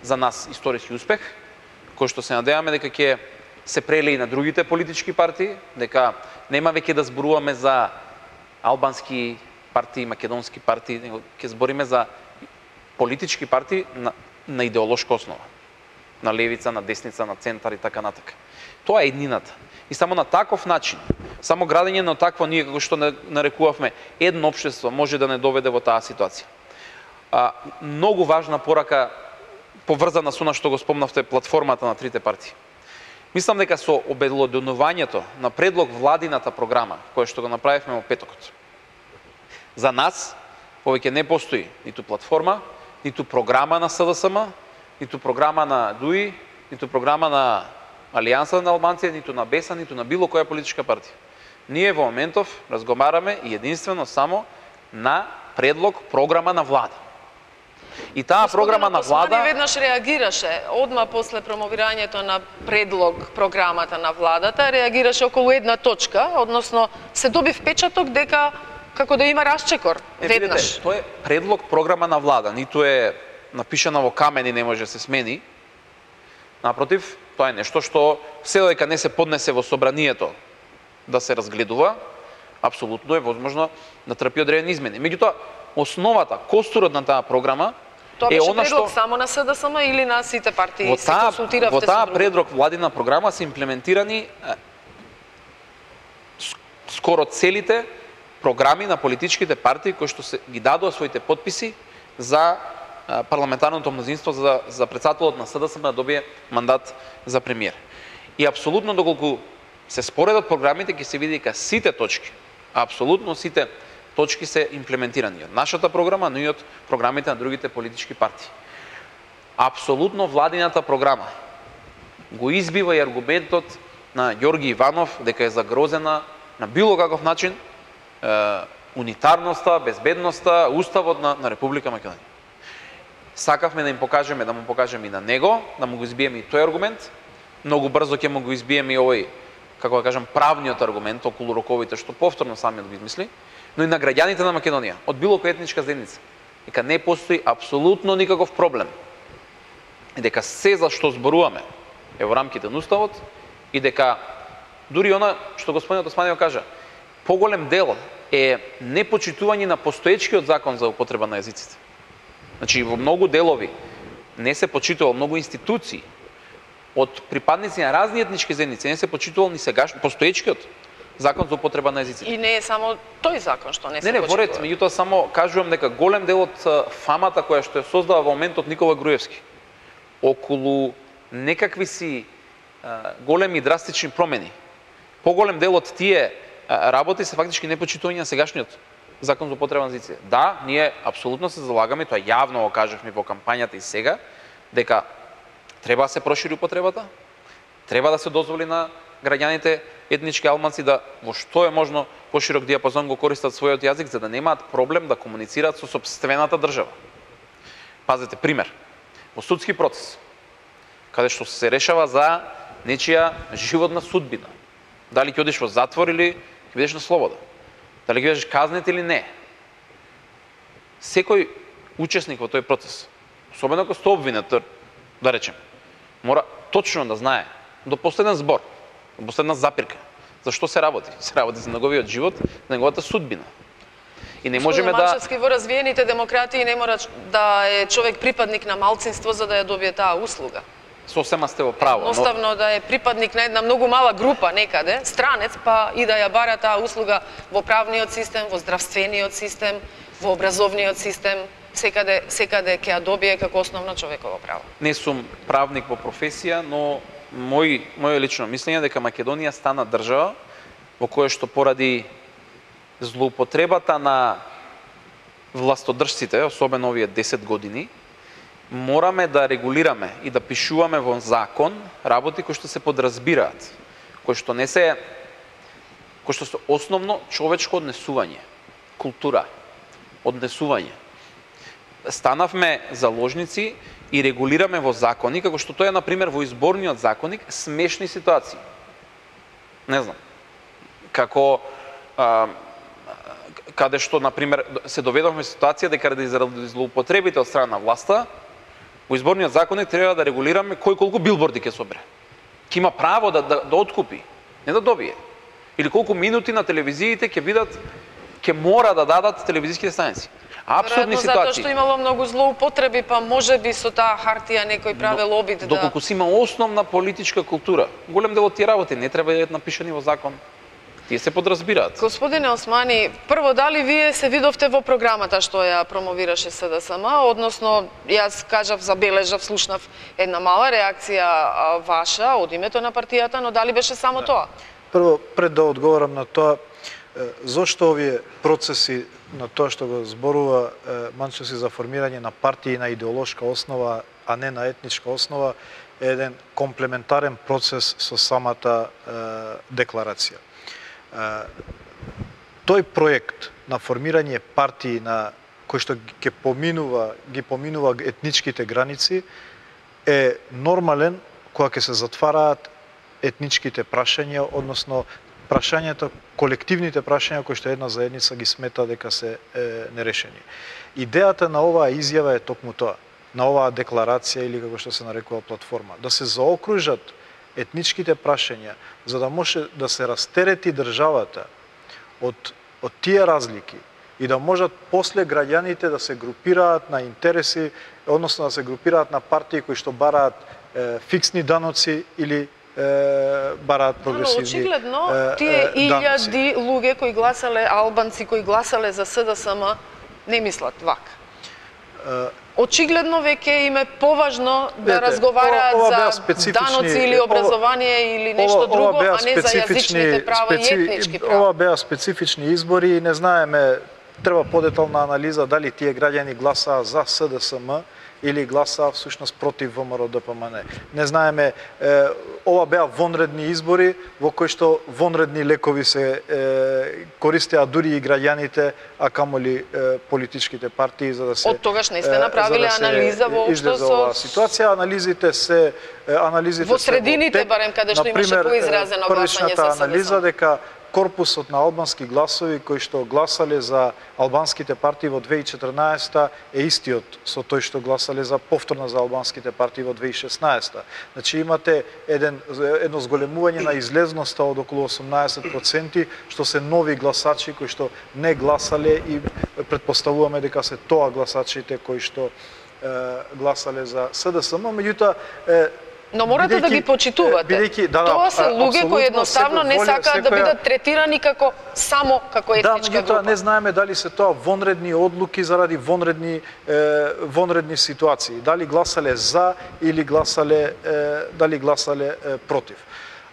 за нас историски успех, кој што се надеваме дека ќе се прелее и на другите политички партии, дека нема веќе да зборуваме за албански партии, македонски партии, него ќе збориме за политички партии на идеолошка основа. На левица, на десница, на центар и така натака. Тоа е еднината. И само на таков начин, само градење на такво ние како што нарекувавме едно општество може да не доведе во таа ситуација. Многу важна порака поврзана со она што го спомнавте платформата на трите партии. Мислам дека со обелоденувањето на предлог владината програма, која што го направивме во петокот, за нас повеќе не постои ниту платформа, ниту програма на СДСМ, ниту програма на ДУИ, ниту програма на Алијанса на албанците, ниту на БЕСА, ниту на било која политичка партија. Ние во моментов разговараме и единствено само на предлог програма на влада. И таа програма на влада веднаш реагираше одма после промовирањето на предлог програмата на владата, реагираше околу една точка, односно се доби впечаток дека како да има расчекор веднаш. Видите, тоа е предлог програма на влада, ниту е напишана во камен и не може да се смени. Напротив, тоа е нешто што се додека не се поднесе во собранието да се разгледува, апсолутно е возможно да трпи одредени измени. Меѓутоа, основата, костурот на таа програма тоа е беше она предлог што само на СДСМ или на сите партии се консултиравте во таа со други? предлог владина програма се имплементирани скоро целите програми на политичките партии кои што се ги дадоа своите подписи за парламентарното мнозинство за председателот на СДСМ да добие мандат за премиер. И апсолутно доколку се споредат програмите ќе се види дека сите точки, апсолутно сите точки се имплементирани од нашата програма, но и од програмите на другите политички партии. Апсолутно владината програма го избива и аргументот на Ѓорги Иванов дека е загрозена на било каков начин унитарноста, безбедноста, уставот на Република Македонија. Сакавме да им покажеме, да му покажеме и на него, да му го избиеме и тој аргумент. Многу брзо ќе му го избиеме и овој, како да кажам, правниот аргумент околу роковите што повторно самиот го измисли, но и на граѓаните на Македонија, од било која етничка заедница, дека не постои апсолутно никаков проблем. И дека се за што зборуваме е во рамките на уставот и дека дури она што господинот Османија кажа, поголем дел е непочитување на постоечкиот закон за употреба на јазиците. Значи, во многу делови не се почитува, многу институции од припадници на разни етнички заедници не се почитувал ни сегаш постоечкиот закон за употреба на јазиците. И не е само тој закон што не се почитува. Не, воред, меѓутоа само кажувам дека голем дел од фамата која што ја создава во моментот Никола Груевски околу некакви си големи драстични промени. Поголем дел од тие работи се фактички непочитување на сегашниот закон за употреба на езици. Да, ние апсолутно се залагаме, тоа јавно го кажавме во кампањата и сега, дека треба да се прошири употребата, треба да се дозволи на граѓаните етнички албанци да во што е можно поширок диапазон го користат својот јазик за да немаат проблем да комуницираат со сопствената држава. Пазете пример. Во судски процес, каде што се решава за нечија животна судбина. Дали ќе одиш во затвор или ќе бидеш на слобода. Дали ќе бидеш казнет или не. Секој учесник во тој процес, особено ако сте обвинет, да речем, мора точно да знае до последен збор, до последна запирка, за што се работи. Се работи за неговиот живот, за неговата судбина. И не можеме да... Манчевски, во развиените демократии не мора да е човек припадник на малцинство за да ја добие таа услуга. Сосема сте во право. Едноставно да е припадник на една многу мала група некаде, странец, па и да ја бара таа услуга во правниот систем, во здравствениот систем, во образовниот систем, секаде ќе ја добие како основно човеково право. Не сум правник по професија, но моје лично мислење дека Македонија стана држава во која што поради злоупотребата на властодржците, особено овие 10 години, мораме да регулираме и да пишуваме во закон работи кои што се подразбираат, кои што се основно човечко однесување, култура, однесување. Станавме заложници и регулираме во закони, како што тоа е, например, во изборниот законник, смешни ситуации. Не знам, како каде што, например, се доведовме ситуација дека заради злоупотребите од страна на власта, во изборниот законник треба да регулираме кој колку билборди ќе собере. Ќе има право да откупи, не да добие. Или колку минути на телевизиите ќе мора да дадат телевизиските станици. Апсурдни ситуации. Затоа што имало многу злоупотреби, па можеби со таа хартија некој правел обид да... Доколку си има основна политичка култура, голем дел од тие работи не треба да бидат напишани во закон. Тие се подразбираат. Господине Османи, прво, дали вие се видовте во програмата што ја промовираше СДСМ, односно, јас кажав, забележав, слушнав една мала реакција ваша од името на партијата, но дали беше само тоа? Прво, пред да одговорам на тоа, зошто овие процеси на тоа што го зборува Манчевски за формирање на партии на идеолошка основа, а не на етничка основа, е еден комплементарен процес со самата декларација. Тој проект на формирање партии на кој што ги поминува етничките граници е нормален кога ќе се затвараат етничките прашања, односно прашањата, колективните прашања кои што една заедница ги смета дека се нерешени. Идејата на оваа изјава е токму тоа, на оваа декларација или како што се нарекува платформа, да се заокружат етничките прашања за да може да се растерети државата од тие разлики и да можат после граѓаните да се групираат на интереси, односно да се групираат на партии кои што бараат фиксни даноци или бараат прогресивни даноци. Очигледно, тие илјади луѓе кои гласале, албанци кои гласале за СДСМ, не мислат вака. Очигледно веќе им е поважно да разговараат за даноци или образование или нешто друго, а не за јазичните права и етнички права. Ова беа специфични избори и не знаеме, треба подетална анализа дали тие граѓани гласаа за СДСМ или гласаа всушност против ВМРО-ДПМН. Не знаеме, ова беа вонредни избори во кои што вонредни лекови се користеа дури и граѓаните, а камоли политичките партии за да се... Од тогаш не сте направиле анализа воопшто со... ситуација, анализите во средините барем каде што имаше поизразено гласање за СДСМ. Анализа дека корпусот на албански гласови кои што гласале за албанските партии во 2014 е истиот со тој што гласале за повторно за албанските партии во 2016. Значи имате едно зголемување на излезноста од околу 18%, што се нови гласачи кои што не гласале и претпоставуваме дека се тоа гласачите кои што гласале за СДСМ, меѓутоа Но морате да ги почитувате. Тоа се луѓе кои едноставно не сакаат да бидат третирани како само како етничка група. Не знаеме дали се тоа вонредни одлуки заради вонредни ситуации, дали гласале за или гласале против.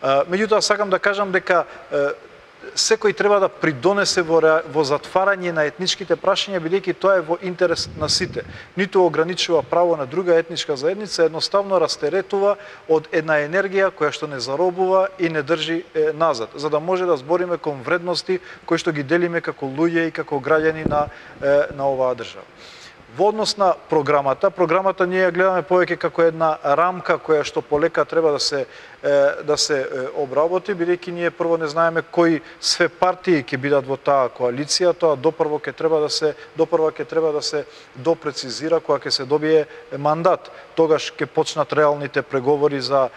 Меѓутоа сакам да кажам дека секој треба да придонесе во затварање на етничките прашања, бидејќи тоа е во интерес на сите. Ниту ограничува право на друга етничка заедница, едноставно растеретува од една енергија која што не заробува и не држи назад, за да може да збориме кон вредности кои што ги делиме како луѓе и како граѓани на оваа држава. Во однос на програмата ние ја гледаме повеќе како една рамка која што полека треба да се обработи, бидејќи ние прво не знаеме кои све партии ќе бидат во таа коалиција, тоа допрво ќе треба да се допрецизира кога ќе се добие мандат. Тогаш ќе почнат реалните преговори за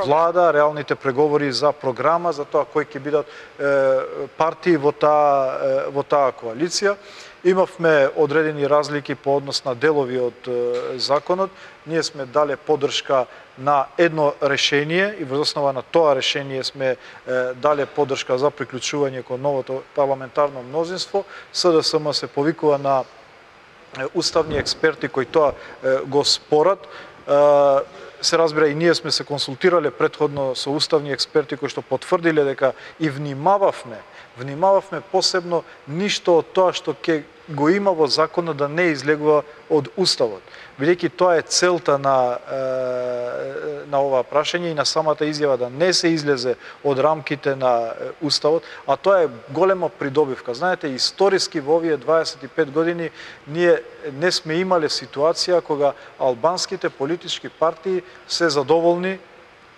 влада, реалните преговори за програма, за тоа кои ќе бидат партии во таа коалиција. Имавме одредени разлики по однос на делови од законот. Ние сме дале поддршка на едно решение и во основа на тоа решение сме дале поддршка за приклучување кон новото парламентарно мнозинство. СДСМ се повикува на уставни експерти кои тоа го спорат. Се разбира, и ние сме се консултирале претходно со уставни експерти кои што потврдиле дека и внимававме посебно ништо од тоа што ќе го има во законот да не излегува од уставот. Бидејќи тоа е целта на оваа прашање и на самата изјава да не се излезе од рамките на уставот, а тоа е голема придобивка. Знаете, историски во овие 25 години ние не сме имале ситуација кога албанските политички партии се задоволни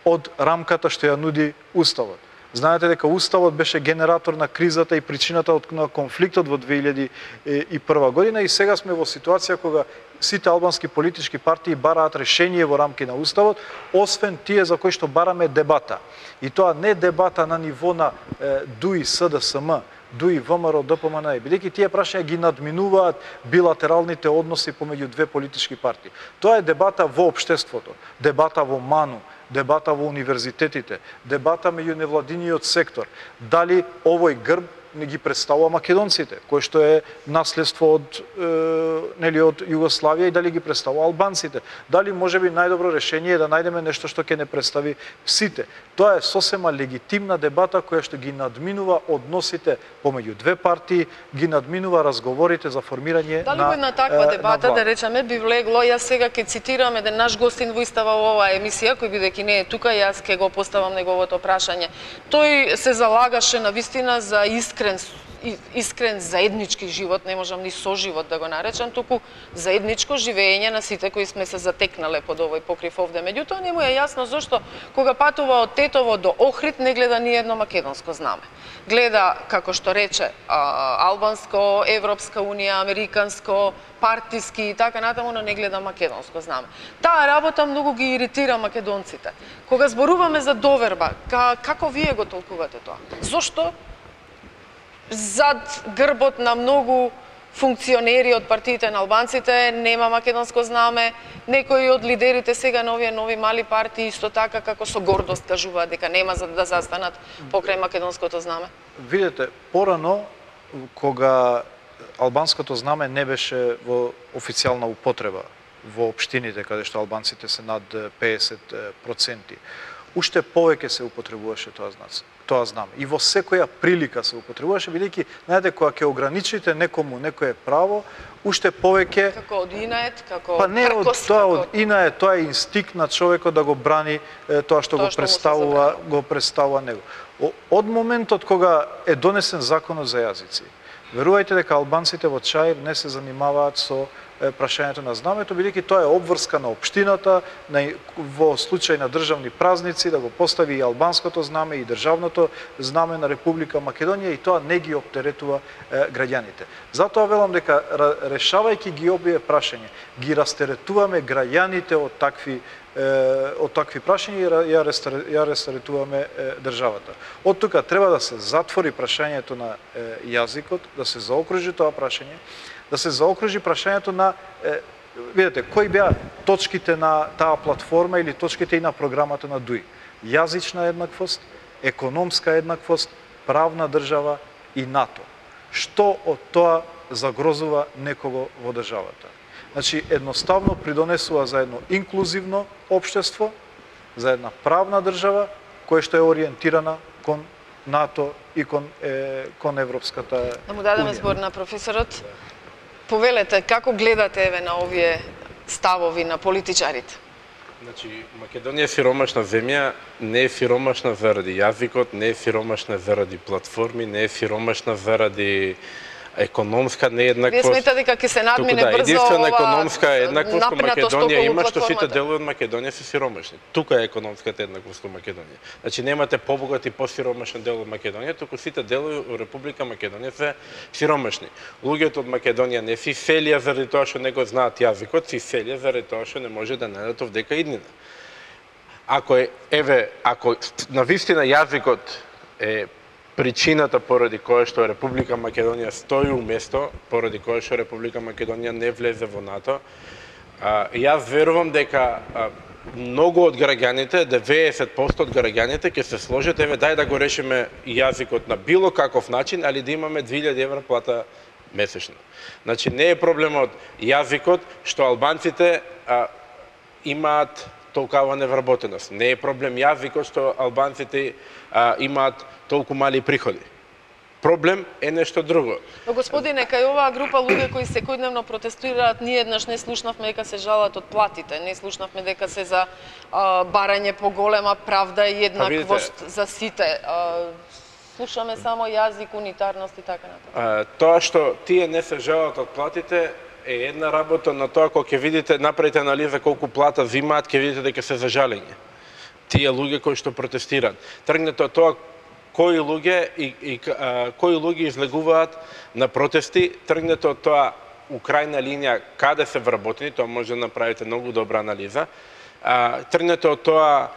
од рамката што ја нуди уставот. Знаете дека уставот беше генератор на кризата и причината на конфликтот во 2001 година и сега сме во ситуација кога сите албански политички партии бараат решение во рамки на уставот, освен тие за кои што бараме дебата. И тоа не дебата на ниво на ДУИ СДСМ, ДУИ ВМРО ДПМН, бидејќи тие прашања ги надминуваат билатералните односи помеѓу две политички партии. Тоа е дебата во општеството, дебата во МАНУ, дебата во универзитетите, дебата меѓу невладиниот сектор. Дали овој грб не ги представува македонците, кој што е наследство од Југославија, и дали ги представува албанците. Дали можеби најдобро решение е да најдеме нешто што ќе не представи сите. Тоа е сосема легитимна дебата која што ги надминува односите помеѓу две партии, ги надминува разговорите за формирање на дали една таква дебата, да речеме, би влегло, јас сега ќе цитирам еден наш гостин во истава во оваа емисија, кој бидејќи не е тука, јас ќе го поставам неговото прашање. Тој се залагаше на вистина за искрен заеднички живот, не можам ни соживот да го наречам, туку заедничко живење на сите кои сме се затекнале под овој покрив овде. Меѓутоа не му е јасно зошто кога патува од Тетово до Охрид не гледа ни едно македонско знаме. Гледа, како што рече, албанско, Европска унија, американско, партиски и така натаму, но не гледа македонско знаме. Таа работа многу ги иритира македонците. Кога зборуваме за доверба, како вие го толкувате тоа? Зошто зад грбот на многу функционери од партиите на албанците нема македонско знаме, некои од лидерите сега на овие нови мали партии исто така како со гордост кажуваат дека нема за да застанат покрај македонското знаме? Видете, порано кога албанското знаме не беше во официјална употреба во општините каде што албанците се над 50%, уште повеќе се употребуваше тоа знаме. И во секоја прилика се употребуваше, бидејќи, знаете, кога ќе ограничите некому некое право, уште повеќе како од инает, како па не од тоа од инает, тоа е инстинкт на човекот да го брани тоа што го представува него. Од моментот кога е донесен законот за јазици, верувајте дека албанците во Чаир не се занимаваат со прашањето на знамето, бидејќи тоа е обврска на општината, во случај на државни празници, да го постави и албанското знаме и државното знаме на Република Македонија, и тоа не ги оптеретува граѓаните. Затоа велам дека решавајќи ги овие прашања, ги растеретуваме граѓаните од такви прашања и ја растаретуваме државата. Од тука треба да се затвори прашањето на јазикот, да се заокружи тоа прашање, да се заокружи прашањето на видете, кои беа точките на таа платформа или точките и на програмата на ДУИ? Јазична еднаквост, економска еднаквост, правна држава и НАТО. Што од тоа загрозува некого во државата? Значи, едноставно придонесува за едно инклузивно општество, за една правна држава, која што е ориентирана кон НАТО и кон Европската Да му дадеме збор на професорот. Повелете, како гледате еве на овие ставови на политичарите? Значи, Македонија е сиромашна земја, не е сиромашна заради јазикот, не е сиромашна заради платформи, не е сиромашна заради економска нееднаквост. Вие сметате дека ќе се надмине брзо единствена економска еднаквост во напредност Македонија околу има што сите платформата? делови од Македонија се сиромашни. Тука е економската еднаквост во Македонија. Значи немате побогат и посиромашен дел од Македонија, туку сите делови во Република Македонија се сиромашни. Луѓето од Македонија не се иселија заради тоа што не го знаат јазикот, се иселија заради тоа што не може да најдат овдека иднина. Ако навистина јазикот е причината поради која што Република Македонија стои уместо, поради која што Република Македонија не влезе во НАТО, јас верувам дека многу од граѓаните, 90% од граѓаните ќе се сложат, дај да го решиме јазикот на било каков начин, али да имаме 2000 евра плата месечно. Значи не е проблемот јазикот што албанците имаат толкава невработеност. Не е проблем јазикот што албанците имаат толку мали приходи. Проблем е нешто друго. Но господине, кај оваа група луѓе кои секојдневно протестираат, ние еднаш не слушнавме дека се жалат од платите, не слушнавме дека се за барање по голема правда и еднаквост за сите. Слушаме само јазик, унитарност и така натаму. Тоа што тие не се жалат од платите е една работа, на тоа кога ќе видите, направите анализа колку плата взимаат, ќе видите дека се за жалење. Тие луѓе кои што протестираат. Тргнете од тоа кои луѓе излегуваат на протести, тргнете од тоа у крајна линија каде се вработени, тоа може да направите многу добра анализа. Тргнете од тоа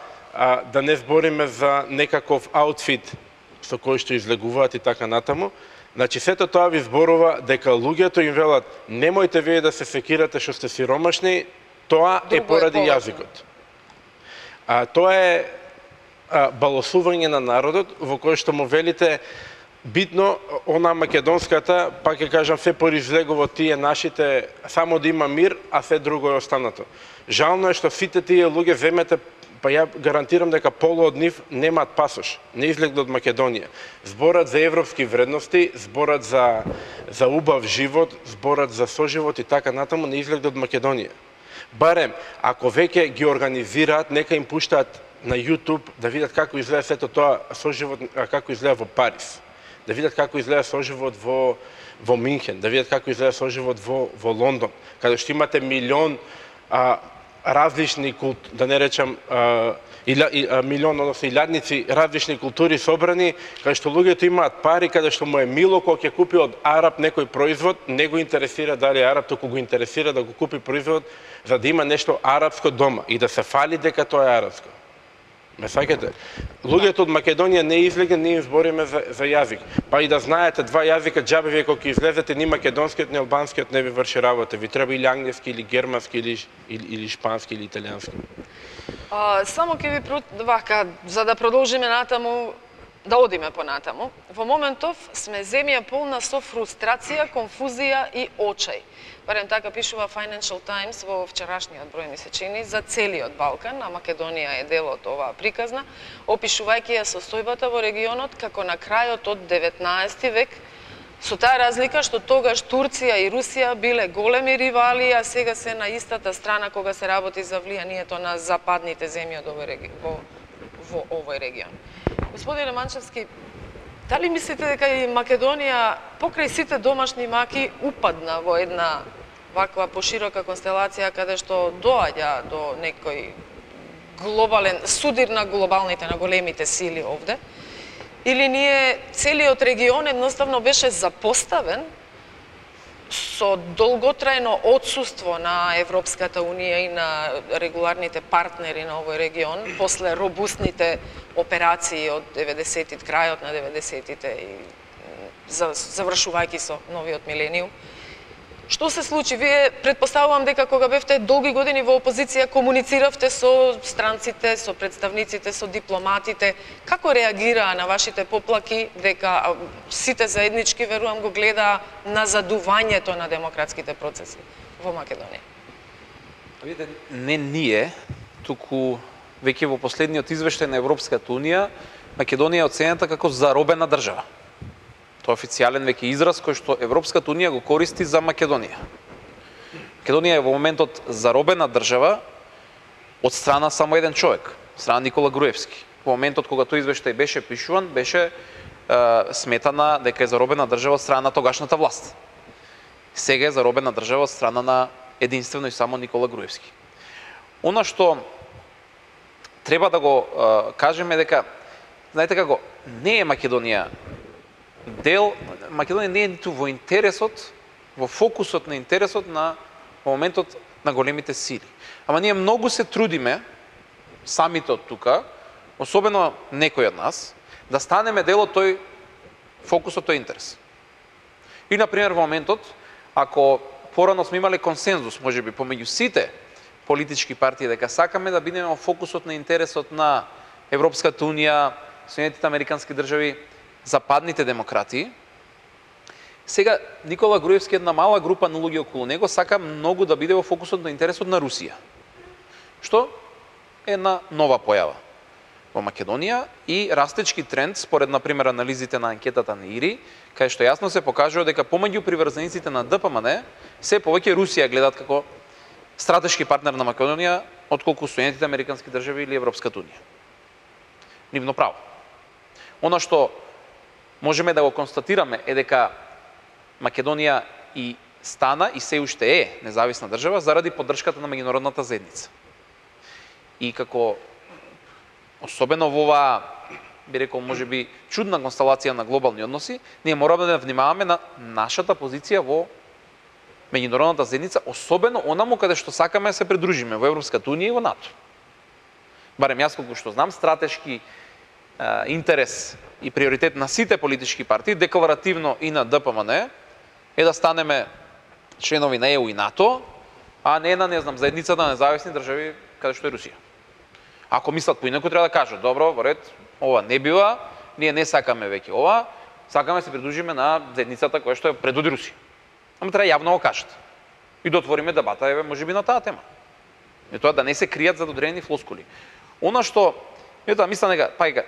да не збориме за некаков аутфит со кој што излегуваат и така натаму. Значи сето тоа ви зборува дека луѓето им велат немојте вие да се секирате што сте сиромашни, тоа е поради јазикот. Тоа е балосување на народот во кој што му велите битно она македонската, пак ќе кажам, се произлегува тие нашите, само да има мир, а се друго е останато. Жално е што сите тие луѓе земете, па ја гарантирам дека полу од нив немаат пасош, не излегли од Македонија. Зборат за европски вредности, зборат за убав живот, зборат за соживот и така натаму, не излегли од Македонија. Барем, ако веќе ги организираат, нека им пуштаат на YouTube да видат како изгледа сето тоа соживот, како изгледа во Париз, да видат како изгледа соживот во Минхен, да видат како изгледа соживот во Лондон, каде што имате милион различни да не речам милион, односно илјадници различни култури собрани, каде што луѓето имаат пари, каде што му е мило кога ќе купи од араб некој производ, не го интересира дали е араб, туку го интересира да го купи производ за да има нешто арапско дома и да се фали дека тоа е арапско. Ме саќате? Луѓето од Македонија не излега, не им збориме за јазик. Па и да знаете два јазика, џабе вие кога излезете, ни македонскиот, ни албанскиот не ви врши работа. Ви треба или англиски, или германски, или шпански, или италијански. Само ќе ви вака, за да продолжиме натаму, да одиме понатаму. Во моментов сме земја полна со фрустрација, конфузија и очај. Барем така пишува Financial Times во вчерашниот број, ми се чини, за целиот Балкан, а Македонија е дел од оваа приказна, опишувајќи ја состојбата во регионот како на крајот од 19 век, со таа разлика што тогаш Турција и Русија биле големи ривали, а сега се на истата страна кога се работи за влијанието на западните земји од во овој регион. Господине Манчевски, дали мислите дека и Македонија покрај сите домашни маки упадна во една ваква поширока констелација каде што доаѓа до некој глобален судир на глобалните, на големите сили овде? Или ние целиот регион едноставно беше запоставен со долготрајно отсуство на Европската Унија и на регуларните партнери на овој регион после робустните операции од 90-тите, крајот на 90-тите и завршувајќи со новиот милениум. Што се случи? Вие претпоставувам дека кога бевте долги години во опозиција комунициравте со странците, со представниците, со дипломатите. Како реагираа на вашите поплаки дека сите заеднички, верувам, го гледаа назадувањето на демократските процеси во Македонија? Видите, не ние, туку веќе во последниот извештај на Европската Унија, Македонија е оценета како заробена држава. Тоа е официјален веќе израз кој што Европската Унија го користи за Македонија. Македонија е во моментот заробена држава од страна само еден човек, страна Никола Груевски. Во моментот кога тој извештај беше пишуван, беше сметана дека е заробена држава од страна на тогашната власт. Сега е заробена држава од страна на единствено и само Никола Груевски. Она што треба да го кажеме дека, знаете како, не е Македонија дел, Македонија не е ниту во интересот, во фокусот на интересот на во моментот на големите сили. Ама ние многу се трудиме, самите од тука, особено некои од нас, да станеме дел од тој фокусот, тој интерес. И, например, во моментот, ако порано сме имале консензус, можеби, помеѓу сите политички партии, дека сакаме да бидеме во фокусот на интересот на Европската Унија, Соединетите Американски држави, западните демократии, сега Никола Груевски, една мала група на луѓе околу него, сака многу да биде во фокусот на интересот на Русија. Што е една нова појава во Македонија и растечки тренд, според, например, анализите на анкетата на ИРИ, кај што јасно се покажува дека помеѓу приврзениците на ДПМН, се повеќе Русија гледат како стратешки партнер на Македонија, отколку Соединетите Американски држави или Европската Унија. Нивно право. Она што можеме да го констатираме е дека Македонија и стана и се уште е независна држава заради поддршката на меѓународната заедница. И како особено во оваа, би рекол, можеби чудна констелација на глобални односи, ние мораме да внимаваме на нашата позиција во меѓународната заедница, особено онаму каде што сакаме да се придружиме во Европската Унија и во НАТО. Барем јас колку што знам, стратешки интерес и приоритет на сите политички партии, декларативно и на ДПМН, е да станеме членови на ЕУ и НАТО, а не на, не знам, заедницата на независни држави каде што е Русија. Ако мислат поинаку, треба да кажат, добро, во ред, ова не бива, ние не сакаме веќе ова, сакаме да се придружиме на заедницата која што е предводи Русија. Ама треба јавно го кажат. И да отвориме дебата, еве, можеби на таа тема. И тоа да не се кријат за додрени флоскули. Она што, мислам дека,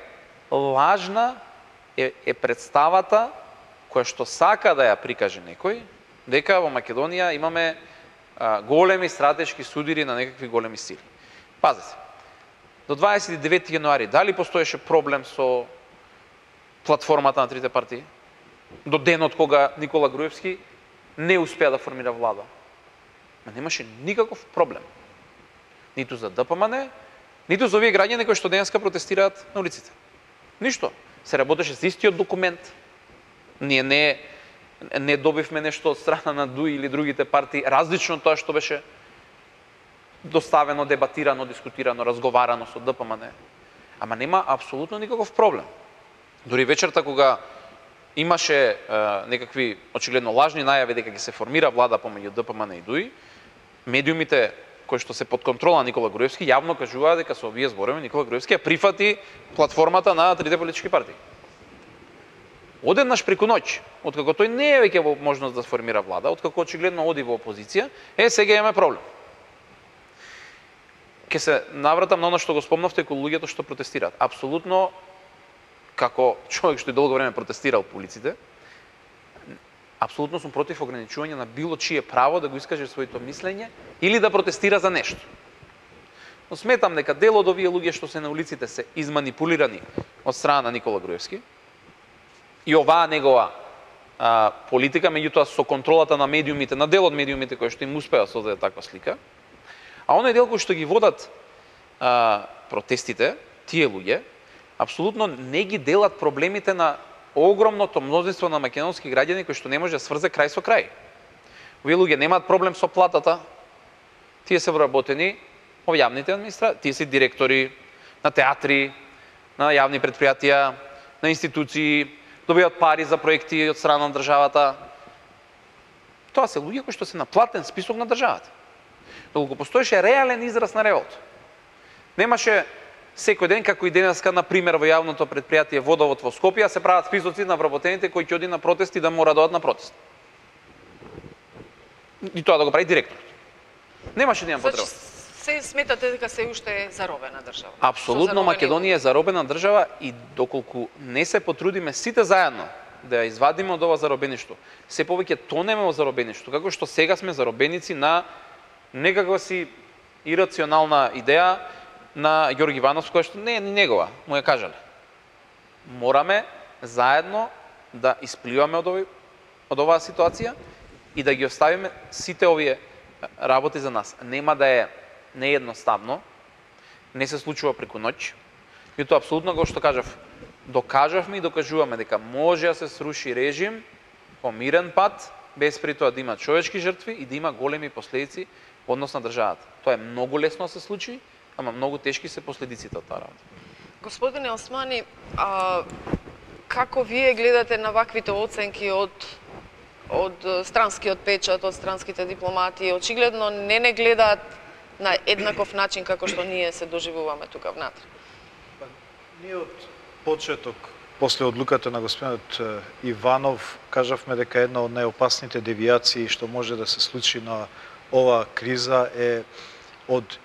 лажна е представата која што сака да ја прикаже некој, дека во Македонија имаме големи стратешки судири на некакви големи сили. Пазете, до 29 јануари, дали постоеше проблем со платформата на трите партии? До денот кога Никола Груевски не успеа да формира влада. Немаше никаков проблем. Ниту за ДПМН, ниту за овие граѓани кои што денеска протестираат на улиците. Ништо. Се работеше с истиот документ. Ние не добивме нешто од страна на ДУИ или другите партии, различно од тоа што беше доставено, дебатирано, дискутирано, разговарано со ДПМН. Ама нема апсолутно никаков проблем. Дури вечерта кога имаше некакви очигледно лажни најави дека ќе се формира влада помеѓу ДПМН и ДУИ, медиумите кои што се под контрола на Никола Груевски јавно кажуваа дека со овие зборови Никола Груевски ја прифати платформата на трите политички партии. Одеднаш преку ноќ, откако тој не е веќе во можност да сформира влада, откако очигледно оди во опозиција, сега имаме проблем. Ке се навратам на оно што го спомнавте кога луѓето што протестираат. Апсолутно, како човек што и долго време протестирал по улиците, апсолутно сум против ограничување на било чие право да го искаже своето мислење или да протестира за нешто. Но сметам дека дел од овие луѓе што се на улиците се изманипулирани од страна на Никола Груевски и оваа негова политика, меѓутоа со контролата на медиумите, на дел од медиумите кои што им успеа да создаде таква слика, а оној дел кој што ги водат протестите, тие луѓе, апсолутно не ги делат проблемите на огромното мнозинство на македонски граѓани кои што не може да сврзе крај со крај. Овие луѓе немаат проблем со платата, тие се вработени во јавните администрации, тие се директори на театри, на јавни предпријатија, на институции, добиваат пари за проекти од страна на државата. Тоа се луѓе кои што се на платен список на државата. Доколку постоеше реален израз на револт. Немаше секој ден, како и денеска, на пример, во јавното предпријатие Водовод во Скопје, се прават списоци на вработените кои ќе оди на протести да мора да одат на протест. И тоа да го прави директорот. Немаше да има потреба. Се сметате дека се уште е заробена држава? Апсолутно, Македонија е заробена држава и доколку не се потрудиме сите заедно да ја извадиме од ова заробеништво, се повеќе тонеме во заробеништво, како што сега сме заробеници на некаква си ирационална идеја на Ѓорги Иванов, која што не е ни негова, му ја кажале. Мораме заедно да испливаме од оваа ситуација и да ги оставиме сите овие работи за нас. Нема да е неедноставно, не се случува преку ноќ, и тоа апсолутно, како што кажав, докажавме и докажуваме дека може да се сруши режим по мирен пат, без при тоа да има човечки жртви и да има големи последици во однос на државата. Тоа е многу лесно да се случи, ама многу тешки се последиците од таа работа. Господине Османи, како вие гледате на ваквите оценки од странскиот печат, од странските дипломати? Очигледно не гледаат на еднаков начин како што ние се доживуваме тука внатре. Ние од почеток, после одлуката на господинот Иванов, кажавме дека една од најопасните девијации што може да се случи на оваа криза е од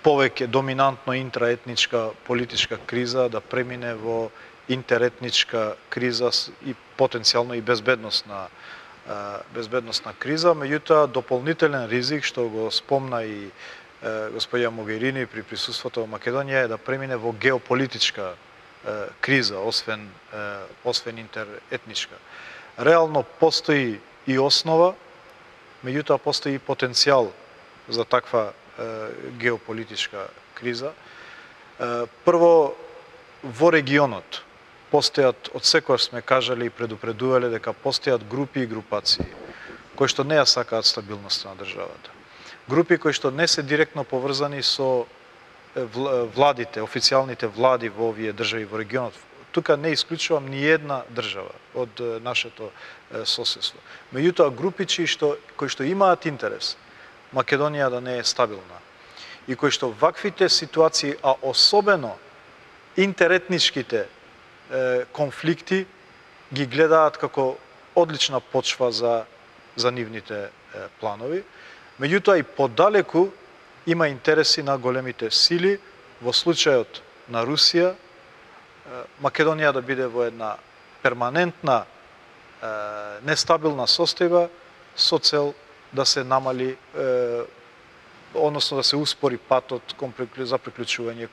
повеќе доминантно интраетничка политичка криза да премине во интеретничка криза и потенцијално и безбедносна криза. Меѓутоа, дополнителен ризик, што го спомна и господја Могерини при присуството во Македонија, е да премине во геополитичка криза, освен интеретничка. Реално постои и основа, меѓутоа постои и потенцијал за таква геополитичка криза. Прво, во регионот постојат, од секојаш сме кажали и предупредувале дека постојат групи и групации кои што не ја сакаат стабилноста на државата. Групи кои што не се директно поврзани со владите, официјалните влади во овие држави во регионот. Тука не исклучувам ни една држава од нашето соседство. Меѓутоа, групичи кои што имаат интерес Македонија да не е стабилна и кои што ваквите ситуации, а особено интеретничките конфликти ги гледаат како одлична почва за нивните планови. Меѓутоа и подалеку има интереси на големите сили, во случајот на Русија, Македонија да биде во една перманентна нестабилна состојба со цел да се намали, односно да се успори патот за приклучување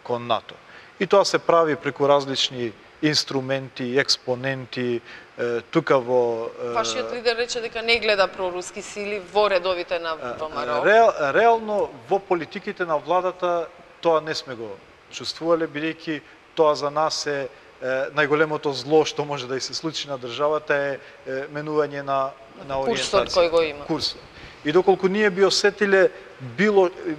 кон НАТО. И тоа се прави преку различни инструменти, експоненти, тука во... Вашиот лидер рече дека не гледа проруски сили во редовите на ВМРО. Реално, во политиките на владата тоа не сме го чувствувале, бидејќи тоа за нас е најголемото зло што може да и се случи на државата е менување на ориентација. Курсот кој го има. Курсот. И доколку ние би осетиле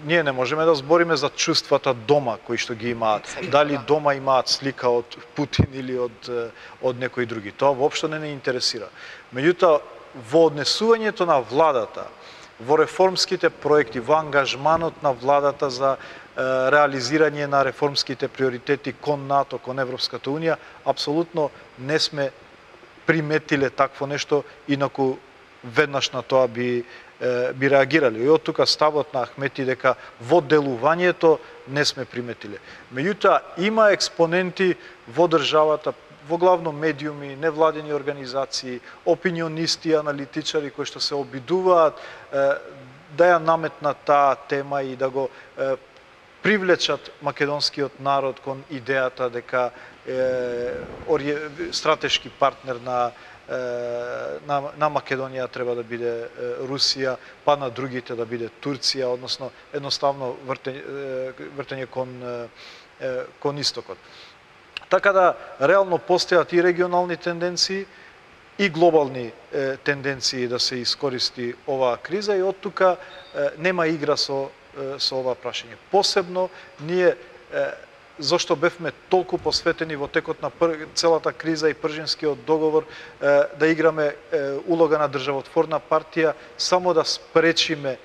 ние не можеме да збориме за чувствата дома кои што ги имаат. Дали дома имаат слика од Путин или од некои други. Тоа воопшто не интересира. Меѓутоа, во однесувањето на владата, во реформските проекти, во ангажманот на владата за реализирање на реформските приоритети кон НАТО, кон Европската Унија, апсолутно не сме приметиле такво нешто, инаку веднаш на тоа би реагирали. И од тука ставот на Ахмети дека во делувањето не сме приметиле. Меѓутоа, има експоненти во државата, во главно медиуми, невладени организации, опинионисти, аналитичари кои што се обидуваат да ја наметнат таа тема и да го привлечат македонскиот народ кон идејата дека стратешки партнер на Македонија треба да биде Русија, па на другите да биде Турција, односно едноставно вртење кон истокот. Така да реално постојат и регионални тенденции и глобални тенденции да се искористи оваа криза и од тука нема игра со ова прашање. Посебно ние зошто бевме толку посветени во текот на целата криза и Пржинскиот договор да играме улога на државотворна партија, само да спречиме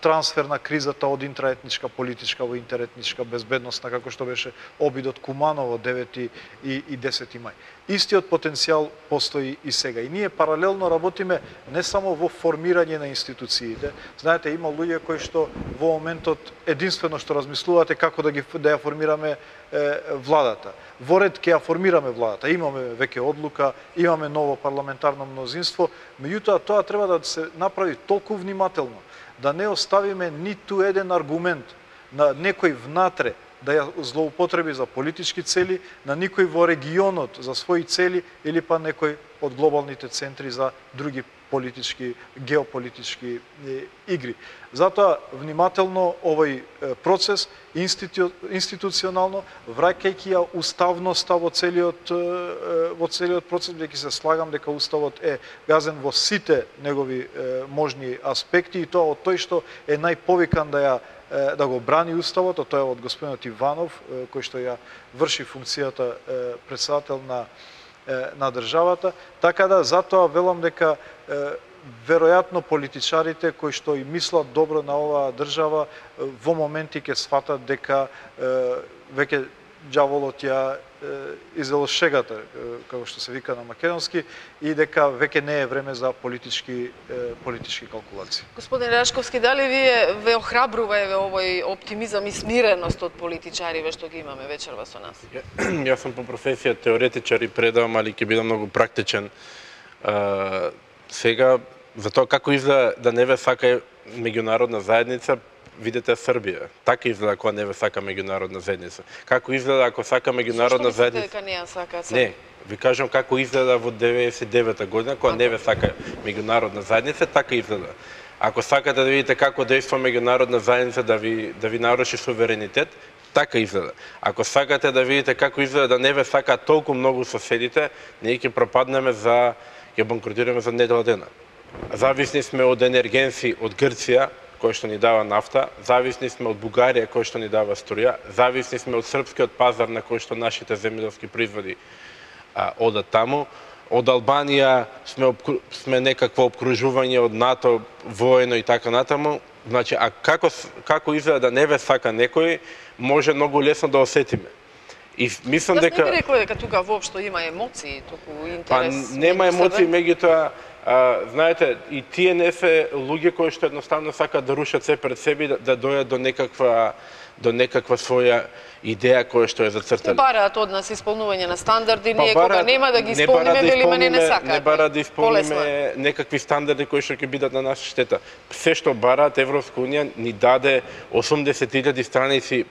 трансфер на кризата од интраетничка политичка во интеретничка безбедностна, како што беше обидот Куманово 9 и 10 мај. Истиот потенцијал постои и сега. И ние паралелно работиме не само во формирање на институциите. Знаете, има луѓе кои што во моментот единствено што размислувате како да ја формираме владата. Во ред ќе ја формираме владата. Имаме веќе одлука, имаме ново парламентарно мнозинство, меѓутоа тоа треба да се направи толку внимателно, да не оставиме ниту еден аргумент на некој внатре да ја злоупотреби за политички цели, на никој во регионот за своји цели или па некој од глобалните центри за други политички, геополитички игри. Затоа внимателно овој процес институционално, враќајќи ја уставноста во целиот процес, бидејќи се слагам дека уставот е газен во сите негови можни аспекти и тоа од тој што е најповикан да го брани уставот, а тоа е од господинот Иванов, кој што ја врши функцијата претседател на државата, така да затоа велам дека веројатно политичарите кои што и мислат добро на оваа држава во моменти ќе сфатат дека веќе ѓаволот ја изело шегата, како што се вика на македонски, и дека веќе не е време за политички калкулации. Господин Рашковски, дали ве охрабрува овој оптимизам и смиреност од политичариве што ги имаме вечерва со нас? Јас сум по професија теоретичар и предавам, али ќе бидам многу практичен. Сега, за тоа како изгледа да не ве сака меѓународна заедница, видете Србија. Така изгледа кога не ве сака меѓународна заедница. Како изгледа ако сака меѓународна заедница? Зошто мислите дека не ја сака Србија? Не, ви кажам како изгледа во 99-та година кога не ве сака меѓународна заедница, така изгледа. Ако сакате да видите како дејства меѓународна заедница да ви наруши суверенитет, така изгледа. Ако сакате да видите како изгледа да не ве сака толку многу соседите, ние ќе пропаднеме ќе банкротираме за недела дена. Зависни сме од енергенци од Грција, кој што ни дава нафта, зависни сме од Бугарија, кој што ни дава струја, зависни сме од српскиот пазар на кој што нашите земјоделски производи одат таму. Од Албанија сме некакво обкружување од НАТО, воено и така натаму. Значи, а како изгледа да не ве сака некој, може многу лесно да осетиме. И мислам дека... Јас не би рекла дека тука воопшто има емоции, туку интерес... Па нема емоции, меѓутоа, знаете, и тие не се луѓе кои што едноставно сакаат да рушат се пред себе да дојдат до некаква своја идеја која што е зацртана. Бараат од нас исполнување на стандарди, ние кога нема да ги исполниме, велиме не сакаат. Не бараат да исполниме некакви стандарди кои што ќе бидат на наша штета. Се што бараат Европска унија ни даде 80.000 страници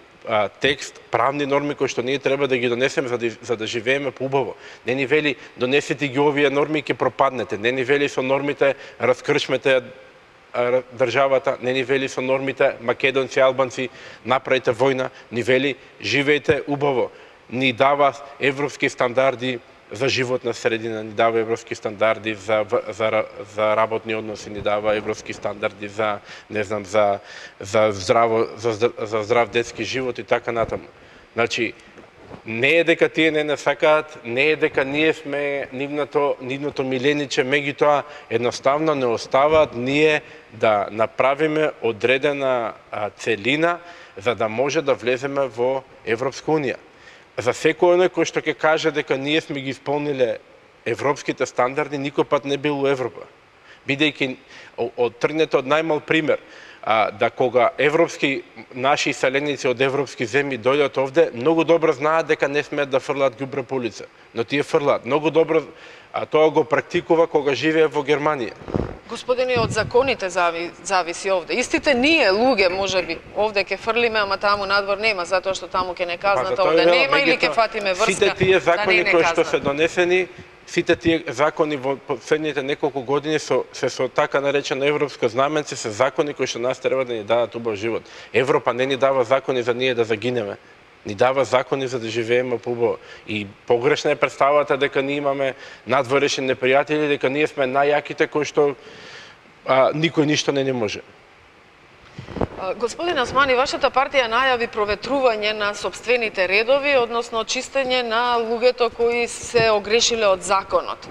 текст, правни норми кои што ние треба да ги донесеме за да живееме поубаво. Не ни вели донесете ги овие норми и ќе пропаднете. Не ни вели со нормите раскршмете државата, не ни вели со нормите македонци, албанци направите војна, ни вели живеете убаво. Ни дава европски стандарди за животна средина, ни дава европски стандарди за работни односи, ни дава европски стандарди за не знам за здрав детски живот и така натаму. Значи не е дека тие не сакаат, не е дека ние сме нивното милениче, меѓутоа едноставно не оставаат ние да направиме одредена целина за да може да влеземе во Европска унија. За секој оној кој што ќе каже дека ние сме ги исполниле европските стандарди, никој пат не бил у Европа. Бидејќи тргнете од најмал пример, да кога европски наши иселеници од европски земји дојдат овде, многу добро знаат дека не смеат да фрлаат ѓубре по улица, но тие фрлаат. Многу добро тоа го практикува кога живее во Германија. Господине, од законите зависи овде. Истите ние, луѓе, можеби, овде ќе фрлиме, ама таму надвор нема, затоа што таму ќе не казната, овде нема, или ќе фатиме врска, сите тие закони да не кои што се донесени, сите тие закони во последните неколку години со така наречено европско знаменце, се закони кои што нас треба да ни дадат убав живот. Европа не ни дава закони за ние да загинеме. Ни дава закони за да живееме поубаво. И погрешна е представата дека ние имаме надворешни непријатели, дека ние сме најјаките кои што никој ништо не може. Господин Османи, вашата партија најави проветрување на сопствените редови, односно чистење на луѓето кои се огрешиле од законот.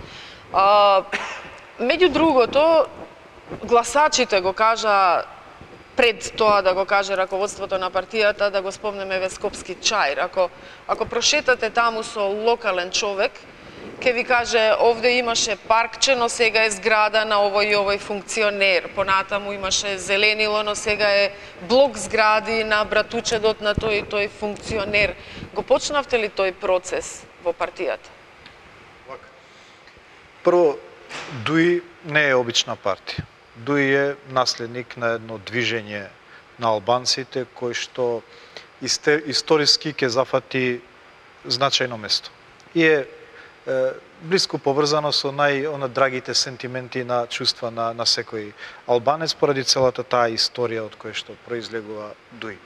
Меѓу другото, гласачите го кажа пред тоа да го каже раководството на партијата, да го спомнеме Вескопски чаир. Ако прошетате таму со локален човек, ќе ви каже овде имаше паркче, но сега е зграда на овој и овој функционер. Понатаму имаше зеленило, но сега е блок згради на братучедот на тој и тој функционер. Го почнавте ли тој процес во партијата? Прво, ДУИ не е обична партија. ДУИ е наследник на едно движење на албанците кој што историски ќе зафати значајно место. И е блиско поврзано со драгите сентименти на чувства на секој албанец поради целата таа историја од која што произлегува ДУИ.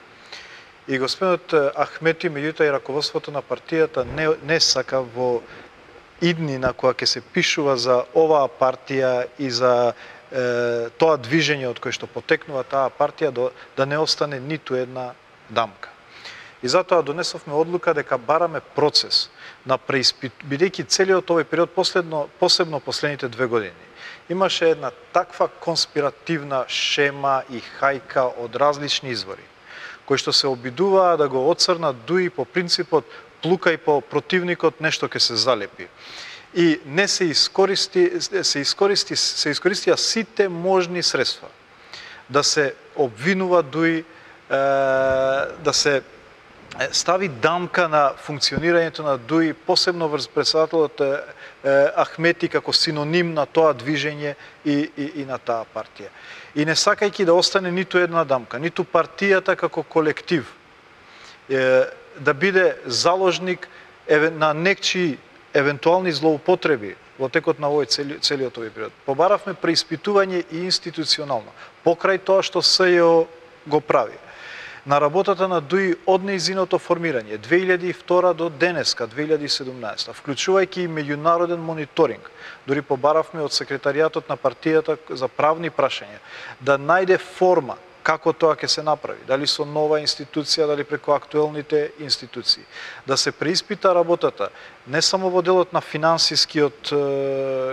И господинот Ахмети, меѓутоа и раководството на партијата не сака во иднина која ќе се пишува за оваа партија и за тоа движење од кое што потекнува таа партија да не остане ниту една дамка. И затоа донесовме одлука дека бараме процес на бидејќи целиот овој период, посебно последните 2 години, имаше една таква конспиративна шема и хајка од различни извори, кои што се обидуваа да го оцрнат ДУИ по принципот плукај по противникот, нешто ќе се залепи. И не се искористија сите можни средства да се обвинува ДУИ, да се стави дамка на функционирањето на ДУИ, посебно врз председателот Ахмети како синоним на тоа движење и на таа партија. И не сакајќи да остане ниту една дамка, ниту партијата како колектив да биде заложник на некчи евентуални злоупотреби во текот на целиот овој период. Побаравме преиспитување и институционално, покрај тоа што СЈО го прави. На работата на ДУИ од нејзиното формирање 2002 до денеска 2017, вклучувајќи и меѓународен мониторинг, дури побаравме од секретаријатот на партијата за правни прашања да најде форма како тоа ќе се направи, дали со нова институција, дали преку актуелните институции. Да се преиспита работата не само во делот на финансискиот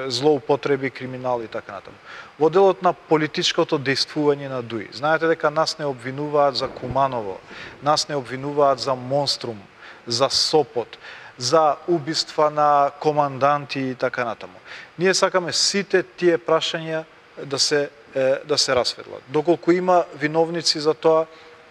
злоупотреби, криминал и така натаму, во делот на политичкото дејствување на ДУИ. Знаете дека нас не обвинуваат за Куманово, нас не обвинуваат за Монструм, за Сопот, за убиства на команданти и така натаму. Ние сакаме сите тие прашања да се расветлат. Доколку има виновници за тоа,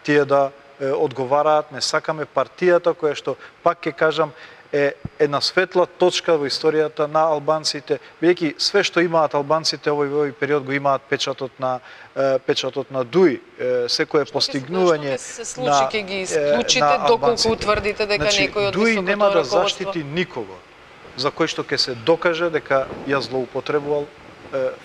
тие да одговараат, не сакаме партијата која што, пак ќе кажам, е една светла точка во историјата на албанците, бидејќи све што имаат албанците овој период го имаат печатот на ДУИ, секое постигнување се случи ќе ги исклучите доколку утврдите дека некој од ДУИ нема да заштити никого за кој што ќе се докаже дека ја злоупотребувал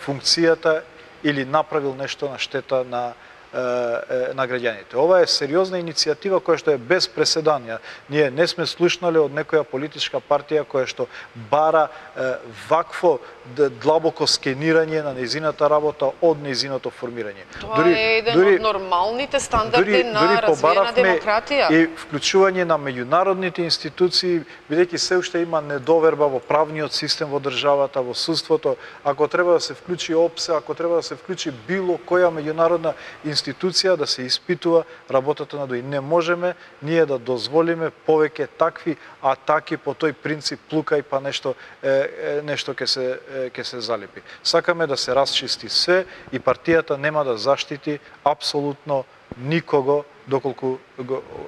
функцијата или направил нешто на штета на граѓаните. Ова е сериозна иницијатива која што е без преседан. Ние не сме слушнале од некоја политичка партија која што бара вакво длабоко скенирање на нејзината работа од нејзиното формирање. Тоа е еден од нормалните стандарди на развиена демократија. И вклучување на меѓународните институции, бидејќи се уште има недоверба во правниот систем во државата, во судството, ако треба да се вклучи ОПСЕ, ако треба да се вклучи било која меѓународна институција да се испитува работата на ДУИ. Не можеме ние да дозволиме повеќе такви атаки по тој принцип плукај па нешто ќе се залепи. Сакаме да се расчисти све и партијата нема да заштити апсолутно никого доколку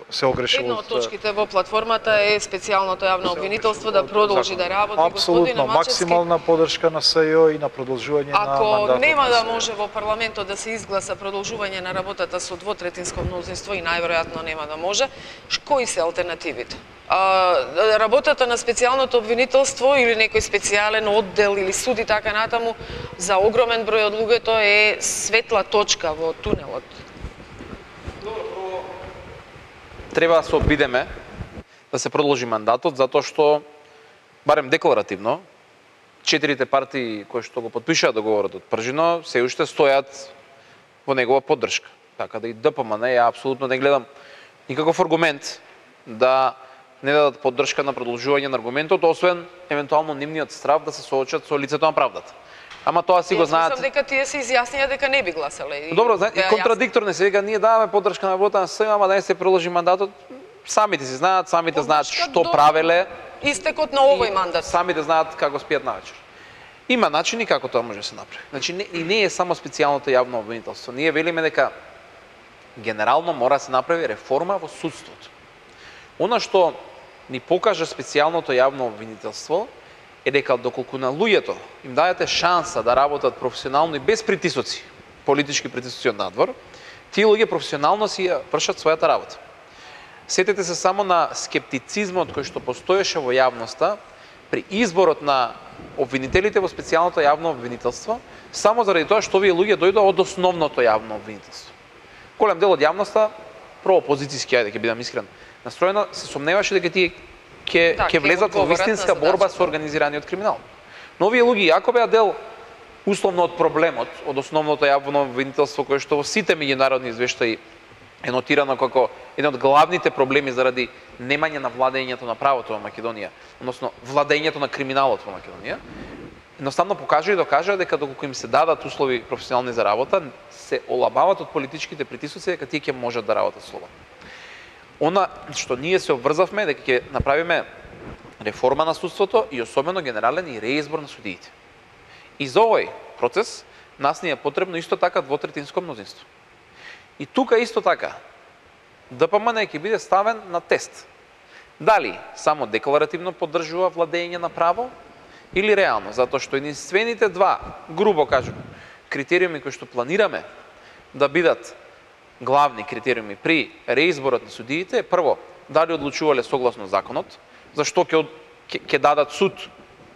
се огрешил. Една од точките во платформата е специјалното јавно обвинителство да продолжи да работи. Апсолутно, максимална поддршка на СЈО и на продолжување на мандатот. Ако нема да може во парламентот да се изгласа продолжување на работата со двотретинско мнозинство и најверојатно нема да може, кои се алтернативите? Работата на специјалното обвинителство или некој специјален оддел или суд и така натаму за огромен број од луѓето е светла точка во тунелот. Треба да се обидеме да се продолжи мандатот, затоа што, барем декларативно, 4 партии кои што го потпишаа договорот од пржино, се уште стојат во негова поддршка. Така да и ДПМН, ја апсолутно не гледам никаков аргумент да не дадат поддршка на продолжување на аргументот, освен евентуално нивниот страв да се соочат со лицето на правдата. Ама тоа си го знаат. Мислам дека тие се изјаснија дека не би гласале. Добро, и контрадикторно се вика, ние даваме поддршка на работа на СЕМ, ама да не се продолжи мандатот. Самите си знаат, самите знаат што правеле. Истекот на овој мандат. Самите знаат како спијат навечер. Има начини како тоа може да се направи. Значи не е само специјалното јавно обвинителство. Ние велиме дека генерално мора да се направи реформа во судството. Она што ни покажа специјалното јавно обвинителство е дека доколку на луѓето им дајате шанса да работат професионално и без притисоци, политички притисоци од надвор, тие луѓе професионално си вршат својата работа. Сетете се само на скептицизмот кој што постоеше во јавноста при изборот на обвинителите во специјалното јавно обвинителство, само заради тоа што овие луѓе дојдоа од основното јавно обвинителство. Голем дел од јавноста, проопозицијски, ајде ќе бидам искрен, настроена се сомневаше дека тие ќе влезат во вистинска борба со организираниот криминал. Но овие луѓе, ако беа дел условно од проблемот, од основното јавно обвинителство кое што во сите меѓународни извештаи е нотирано како еден од главните проблеми заради немање на владењето на правото во Македонија, односно владењето на криминалот во Македонија, едноставно покажа и докажа дека доколку им се дадат услови професионални за работа, се олабават од политичките притисоци дека тие ќе можат да работат слободно. Она што ние се обврзавме дека ќе направиме реформа на судството и особено генерален и реизбор на судиите. И за овој процес нас ни е потребно исто така двотретинско мнозинство. И тука исто така ДПМН ќе биде ставен на тест. Дали само декларативно поддржува владење на право или реално, затоа што единствените два, грубо кажем, критериуми кои што планираме да бидат главни критериуми при реизборот на судиите е прво, дали одлучувале согласно законот, зашто ќе дадат суд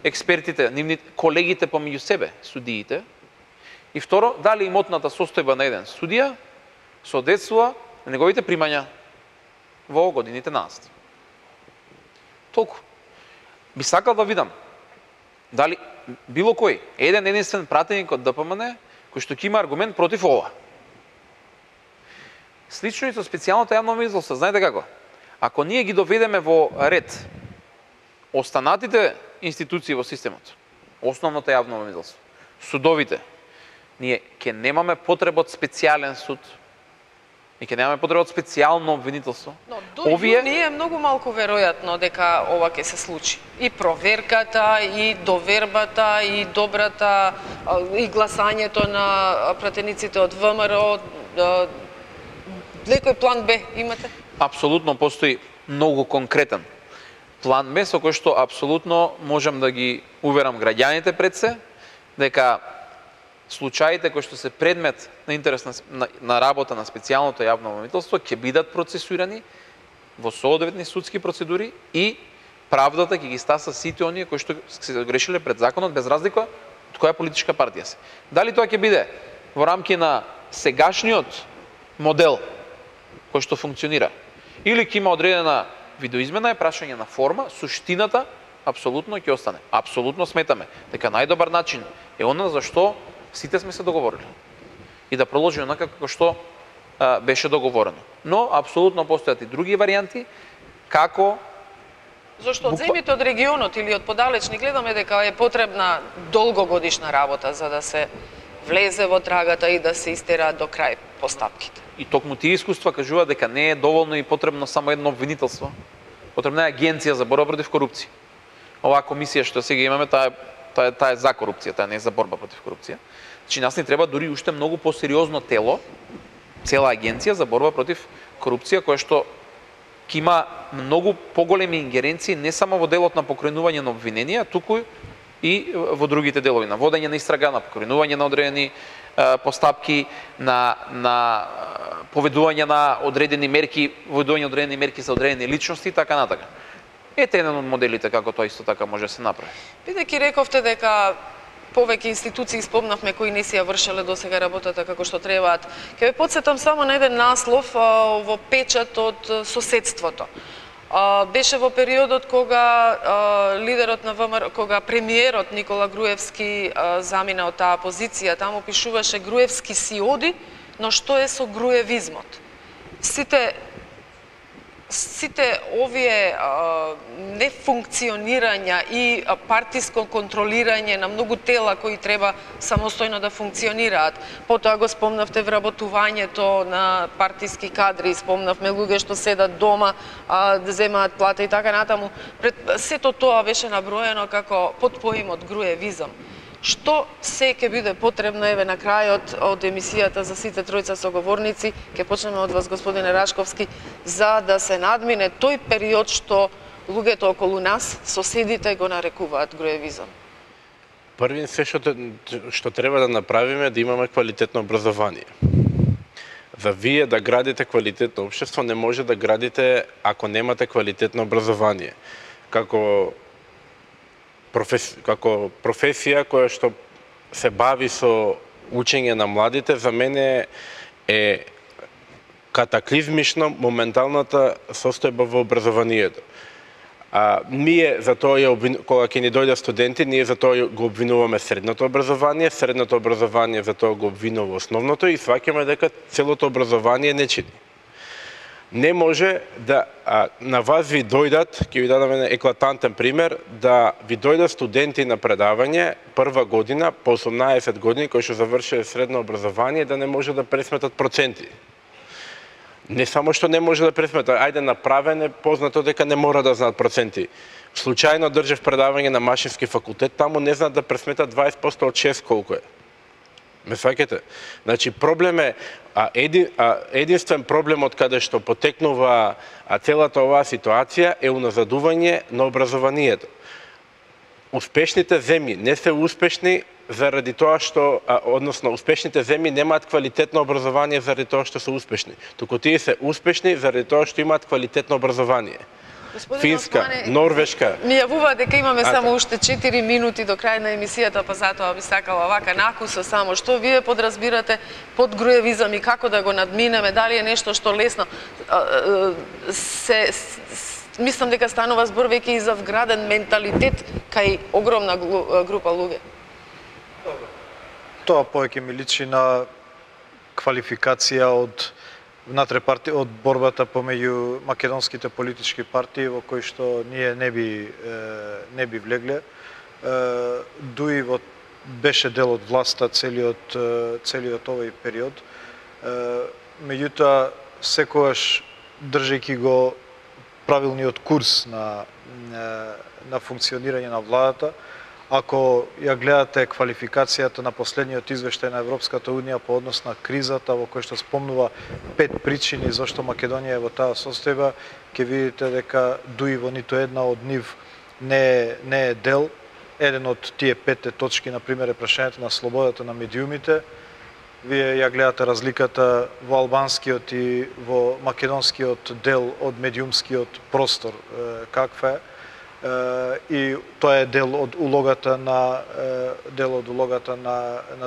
експертите, колегите помеѓу себе, судиите, и второ, дали имотната состојба на еден судија соодветствува на неговите примања во годините назад. Толку. Би сакал да видам дали било кој, единствен пратеник од ДПМН кој што ќе има аргумент против ова. Слично и со специјалното јавно обвинителство, знаете како? Ако ние ги доведеме во ред останатите институции во системот, основното јавно обвинителство, судовите, ние ќе немаме потреба од специјален суд, и ќе немаме потреба од специјално обвинителство. Но до јуни е многу малку веројатно дека ова ќе се случи. И проверката, и довербата, и добрата, и гласањето на пратениците од ВМРО, лекој план Б имате? Апсолутно постои многу конкретен план Б со кој што апсолутно можам да ги уверам граѓаните пред се дека случаите кои што се предмет на интерес на работа на специјалното јавно обвинителство ќе бидат процесуирани во соодветни судски процедури и правдата ќе ги стаса сите оние кои што се грешиле пред законот без разлика од која политичка партија се. Дали тоа ќе биде во рамки на сегашниот модел кој што функционира или ќе има одредена видоизмена е прашање на форма, суштината апсолутно ќе остане. Апсолутно сметаме дека најдобар начин е она за што сите сме се договорили и да продолжи онака како што беше договорено. Но апсолутно постојат и други варијанти како зашто од земјите од регионот или од подалечни гледаме дека е потребна долгогодишна работа за да се влезе во трагата и да се истера до крај постапките. И токму тие искуства кажуваат дека не е доволно и потребно само едно обвинителство. Потребна е агенција за борба против корупција. Оваа комисија што сега имаме, таа е за корупција, таа не е за борба против корупција. Значи нас ни треба дури уште многу посериозно тело, цела агенција за борба против корупција, која што ќе има многу поголеми ингеренции не само во делот на покренување на обвиненија, туку и во другите делови, на водење на истрага, на покренување на одредени постапки, на поведување на одредени мерки, поведување одредени мерки за одредени личности и така натака. Ете еден од моделите како тоа исто така може да се направи. Бидејќи рековте дека повеќе институции спомнавме кои не си ја вршеле досега работата како што требаат. Ќе ве потсетам само на еден наслов во печат од соседството. Беше во периодот кога лидерот на ВМРО, кога премиерот Никола Груевски замина од таа позиција, таму пишуваше Груевски си оди, Но што е со груевизмот? Сите овие нефункционирања и партиско контролирање на многу тела кои треба самостојно да функционираат. Потоа го спомнавте вработувањето на партиски кадри, спомнавме луѓе што седат дома, да земаат плата и така натаму. Сето тоа беше наброено како под поимот груевизам. Што се ќе биде потребно, еве на крајот од емисијата за сите тројца соговорници, ќе почнеме од вас, господине Рашковски, за да се надмине тој период што луѓето околу нас, соседите го нарекуваат груевизам? Првин се што треба да направиме да имаме квалитетно образование. За вие да градите квалитетно општество не може да градите ако немате квалитетно образование. Како професија која што се бави со учење на младите, за мене е катаклизмично моменталната состојба во образованието. Ние за тоа кога ќе ни дојдат студенти, ние за тоа го обвинуваме средното образование за тоа го обвинува основното и сваќаме дека целото образование не чини. Не може да на вас ви дојдат, ќе ви дадам еден еклатантен пример, да ви дојдат студенти на предавање прва година по 18 години кои што завршиле средно образование да не може да пресметат проценти. Не само што не може да пресметат, ајде направен е познато дека не мора да знаат проценти. Случајно држев предавање на Машински факултет, таму не знаат да пресметат 20% од 6 колку е. Ме сваќате? Значи, проблем е, единствен проблем од каде што потекнува целата оваа ситуација е уназадување на образованието. Успешните земји не се успешни заради тоа што, односно, успешните земји немаат квалитетно образование заради тоа што се успешни. Туку тие се успешни заради тоа што имаат квалитетно образование. Финска, Норвешка. Ми јавува дека имаме само уште 4 минути до крај на емисијата, па затоа би сакала вака накуса само. Што вие подразбирате под груевизам и како да го надминеме? Дали е нешто што лесно мислам дека станува збор веќе и за вграден менталитет кај огромна група луѓе? Тоа повеќе ми личи на квалификација од внатре партија, од борбата помеѓу македонските политички партии во кои што ние не би влегле. Дуи беше дел од власта целиот овој период. Меѓутоа, секогаш држејќи го правилниот курс на функционирање на владата, ако ја гледате квалификацијата на последниот извештај на Европската Унија по однос на кризата, во кој што спомнува 5 причини зашто Македонија е во таа состојба, ќе видите дека дуи во ниту една од нив не е дел. Еден од тие 5 точки, например, е прашањето на слободата на медиумите. Вие ја гледате разликата во албанскиот и во македонскиот дел од медиумскиот простор, каква е. И тоа е дел од улогата на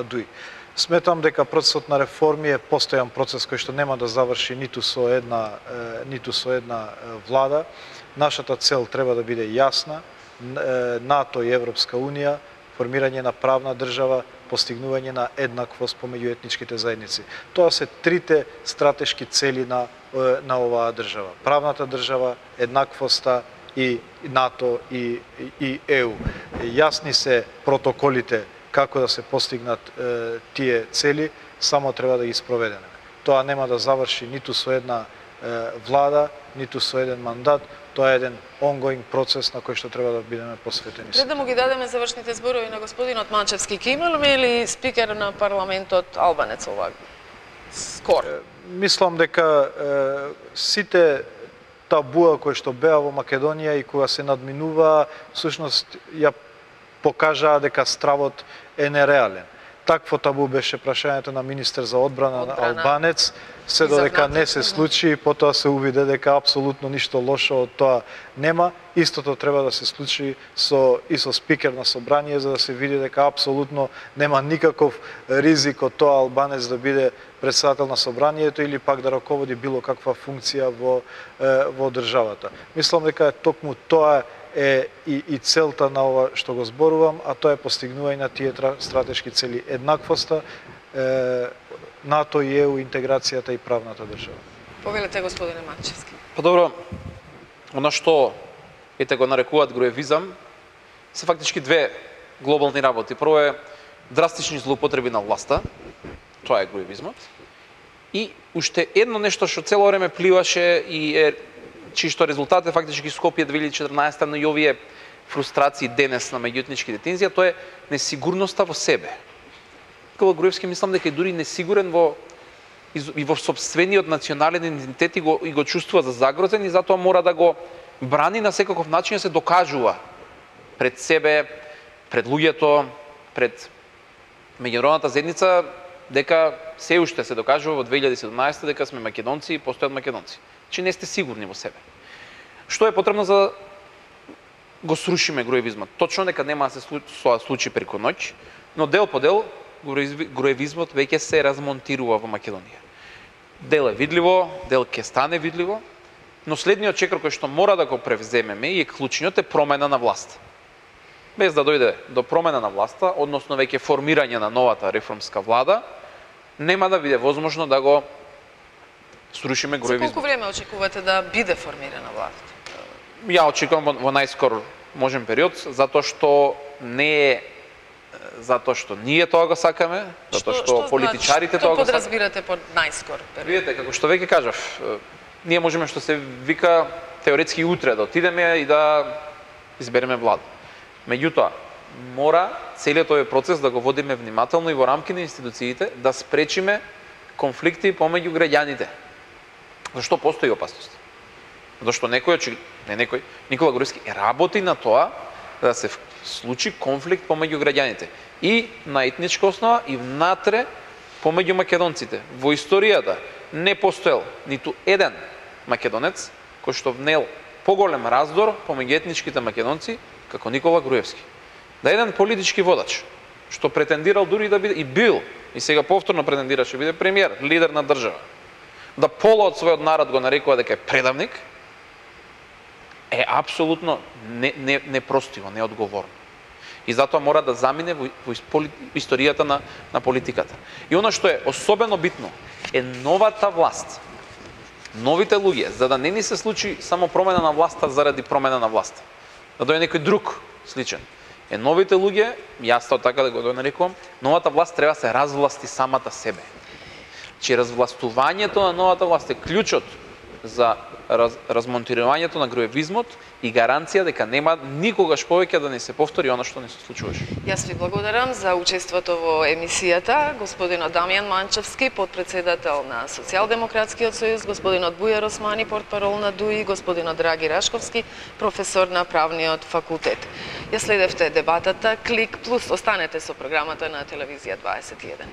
ДУИ. Сметам дека процесот на реформи е постојан процес кој што нема да заврши ниту со една влада. Нашата цел треба да биде јасна: НАТО и Европска Унија, формирање на правна држава, постигнување на еднаквост помеѓу етничките заедници. Тоа се трите стратешки цели на оваа држава: правната држава, еднаквоста и НАТО и ЕУ. Јасни се протоколите како да се постигнат тие цели, само треба да ги спроведеме. Тоа нема да заврши ниту со една влада, ниту со еден мандат. Тоа е еден ongoing процес на кој што треба да бидеме посветени. Пред да му ги дадеме завршните зборови на господинот Манчевски, ќе имаме ли спикер на парламентот албанец овак? Скоро. Мислам дека сите табуа кои што беа во Македонија и кога се надминува, всушност ја покажаа дека стравот е нереален. Такво табу беше прашањето на министер за одбрана албанец, се додека не се случи, потоа се увиде дека апсолутно ништо лошо од тоа нема. Истото треба да се случи и со спикер на собрание, за да се види дека апсолутно нема никаков ризик од тоа албанец да биде председател на собранието или пак да раководи било каква функција во државата. Мислам дека токму тоа е и целта на ова што го зборувам, а тоа е постигнување на тие стратешки цели: еднаквоста, НАТО и ЕУ интеграцијата и правната држава. Повелете, господине Манчевски. Па добро, она што ете го нарекуваат груевизам, се фактички две глобални работи. Прво е драстични злоупотреби на власта, тоа е груевизмот, и уште едно нешто што цело време пливаше и е чишто резултат е фактички Скопје 2014, но и овие фрустрации денес на меѓуетничките тензија, тоа е несигурноста во себе. Никола Груевски мислам дека е дури несигурен и во собствениот национален идентитет и го чувствува за загрозен и затоа мора да го брани на секаков начин, да се докажува пред себе, пред луѓето, пред меѓународната заедница, дека се уште се докажува во 2017 дека сме македонци и постојат македонци. Че не сте сигурни во себе. Што е потребно за да го срушиме груевизмот? Точно дека нема да се случи преку ноќ, но дел по дел груевизмот веќе се размонтирува во Македонија. Дел е видливо, дел ќе стане видливо, но следниот чекор кој што мора да го превземеме и клучниот е промена на власт. Без да дојде до промена на власта, односно веќе формирање на новата реформска влада, нема да биде возможно да го срушиме груевизмот. За колку време очекувате да биде формирана власта? Ја очекувам во најскор можен период, затоа што не е затоа што ние тоа го сакаме, затоа што политичарите тоа го сакаат. Што подразбирате под најскор период? Видете, како што веќе кажав, ние можеме што се вика теоретски утре да отидеме и да избереме влада. Меѓутоа, мора целиот овој процес да го водиме внимателно и во рамки на институциите, да спречиме конфликти помеѓу граѓаните. Зашто постои опасност? Зашто Никола Груевски работи на тоа да се случи конфликт помеѓу граѓаните и на етничка основа и внатре помеѓу македонците. Во историјата не постоел ниту еден македонец кој што внел поголем раздор помеѓу етничките македонци како Никола Груевски. Да еден политички водач што претендирал дури да биде и бил и сега повторно претендираше биде премиер, лидер на држава, да пола од својот народ го нарекува дека е предавник, е апсолутно непростиво, неодговорно. И затоа мора да замине во историјата на политиката. И оно што е особено битно е новата власт, новите луѓе, за да не ни се случи само промена на власта заради промена на власта, да дојде некој друг сличен. Новите луѓе, јас тоа така да го нарекувам, новата власт треба да се развласти самата себе. Че развластувањето на новата власт е клучот за размонтирањето на груевизмот и гаранција дека нема никогаш повеќе да не се повтори оно што не се случуваше. Јас ви благодарам за учеството во емисијата, господинот Дамјан Манчевски, подпредседател на Социјалдемократскиот сојуз, господинот Бујар Османи, портпарол на ДУИ, господинот Драги Рашковски, професор на правниот факултет. Ја следевте дебатата Клик Плюс. Останете со програмата на телевизија 21.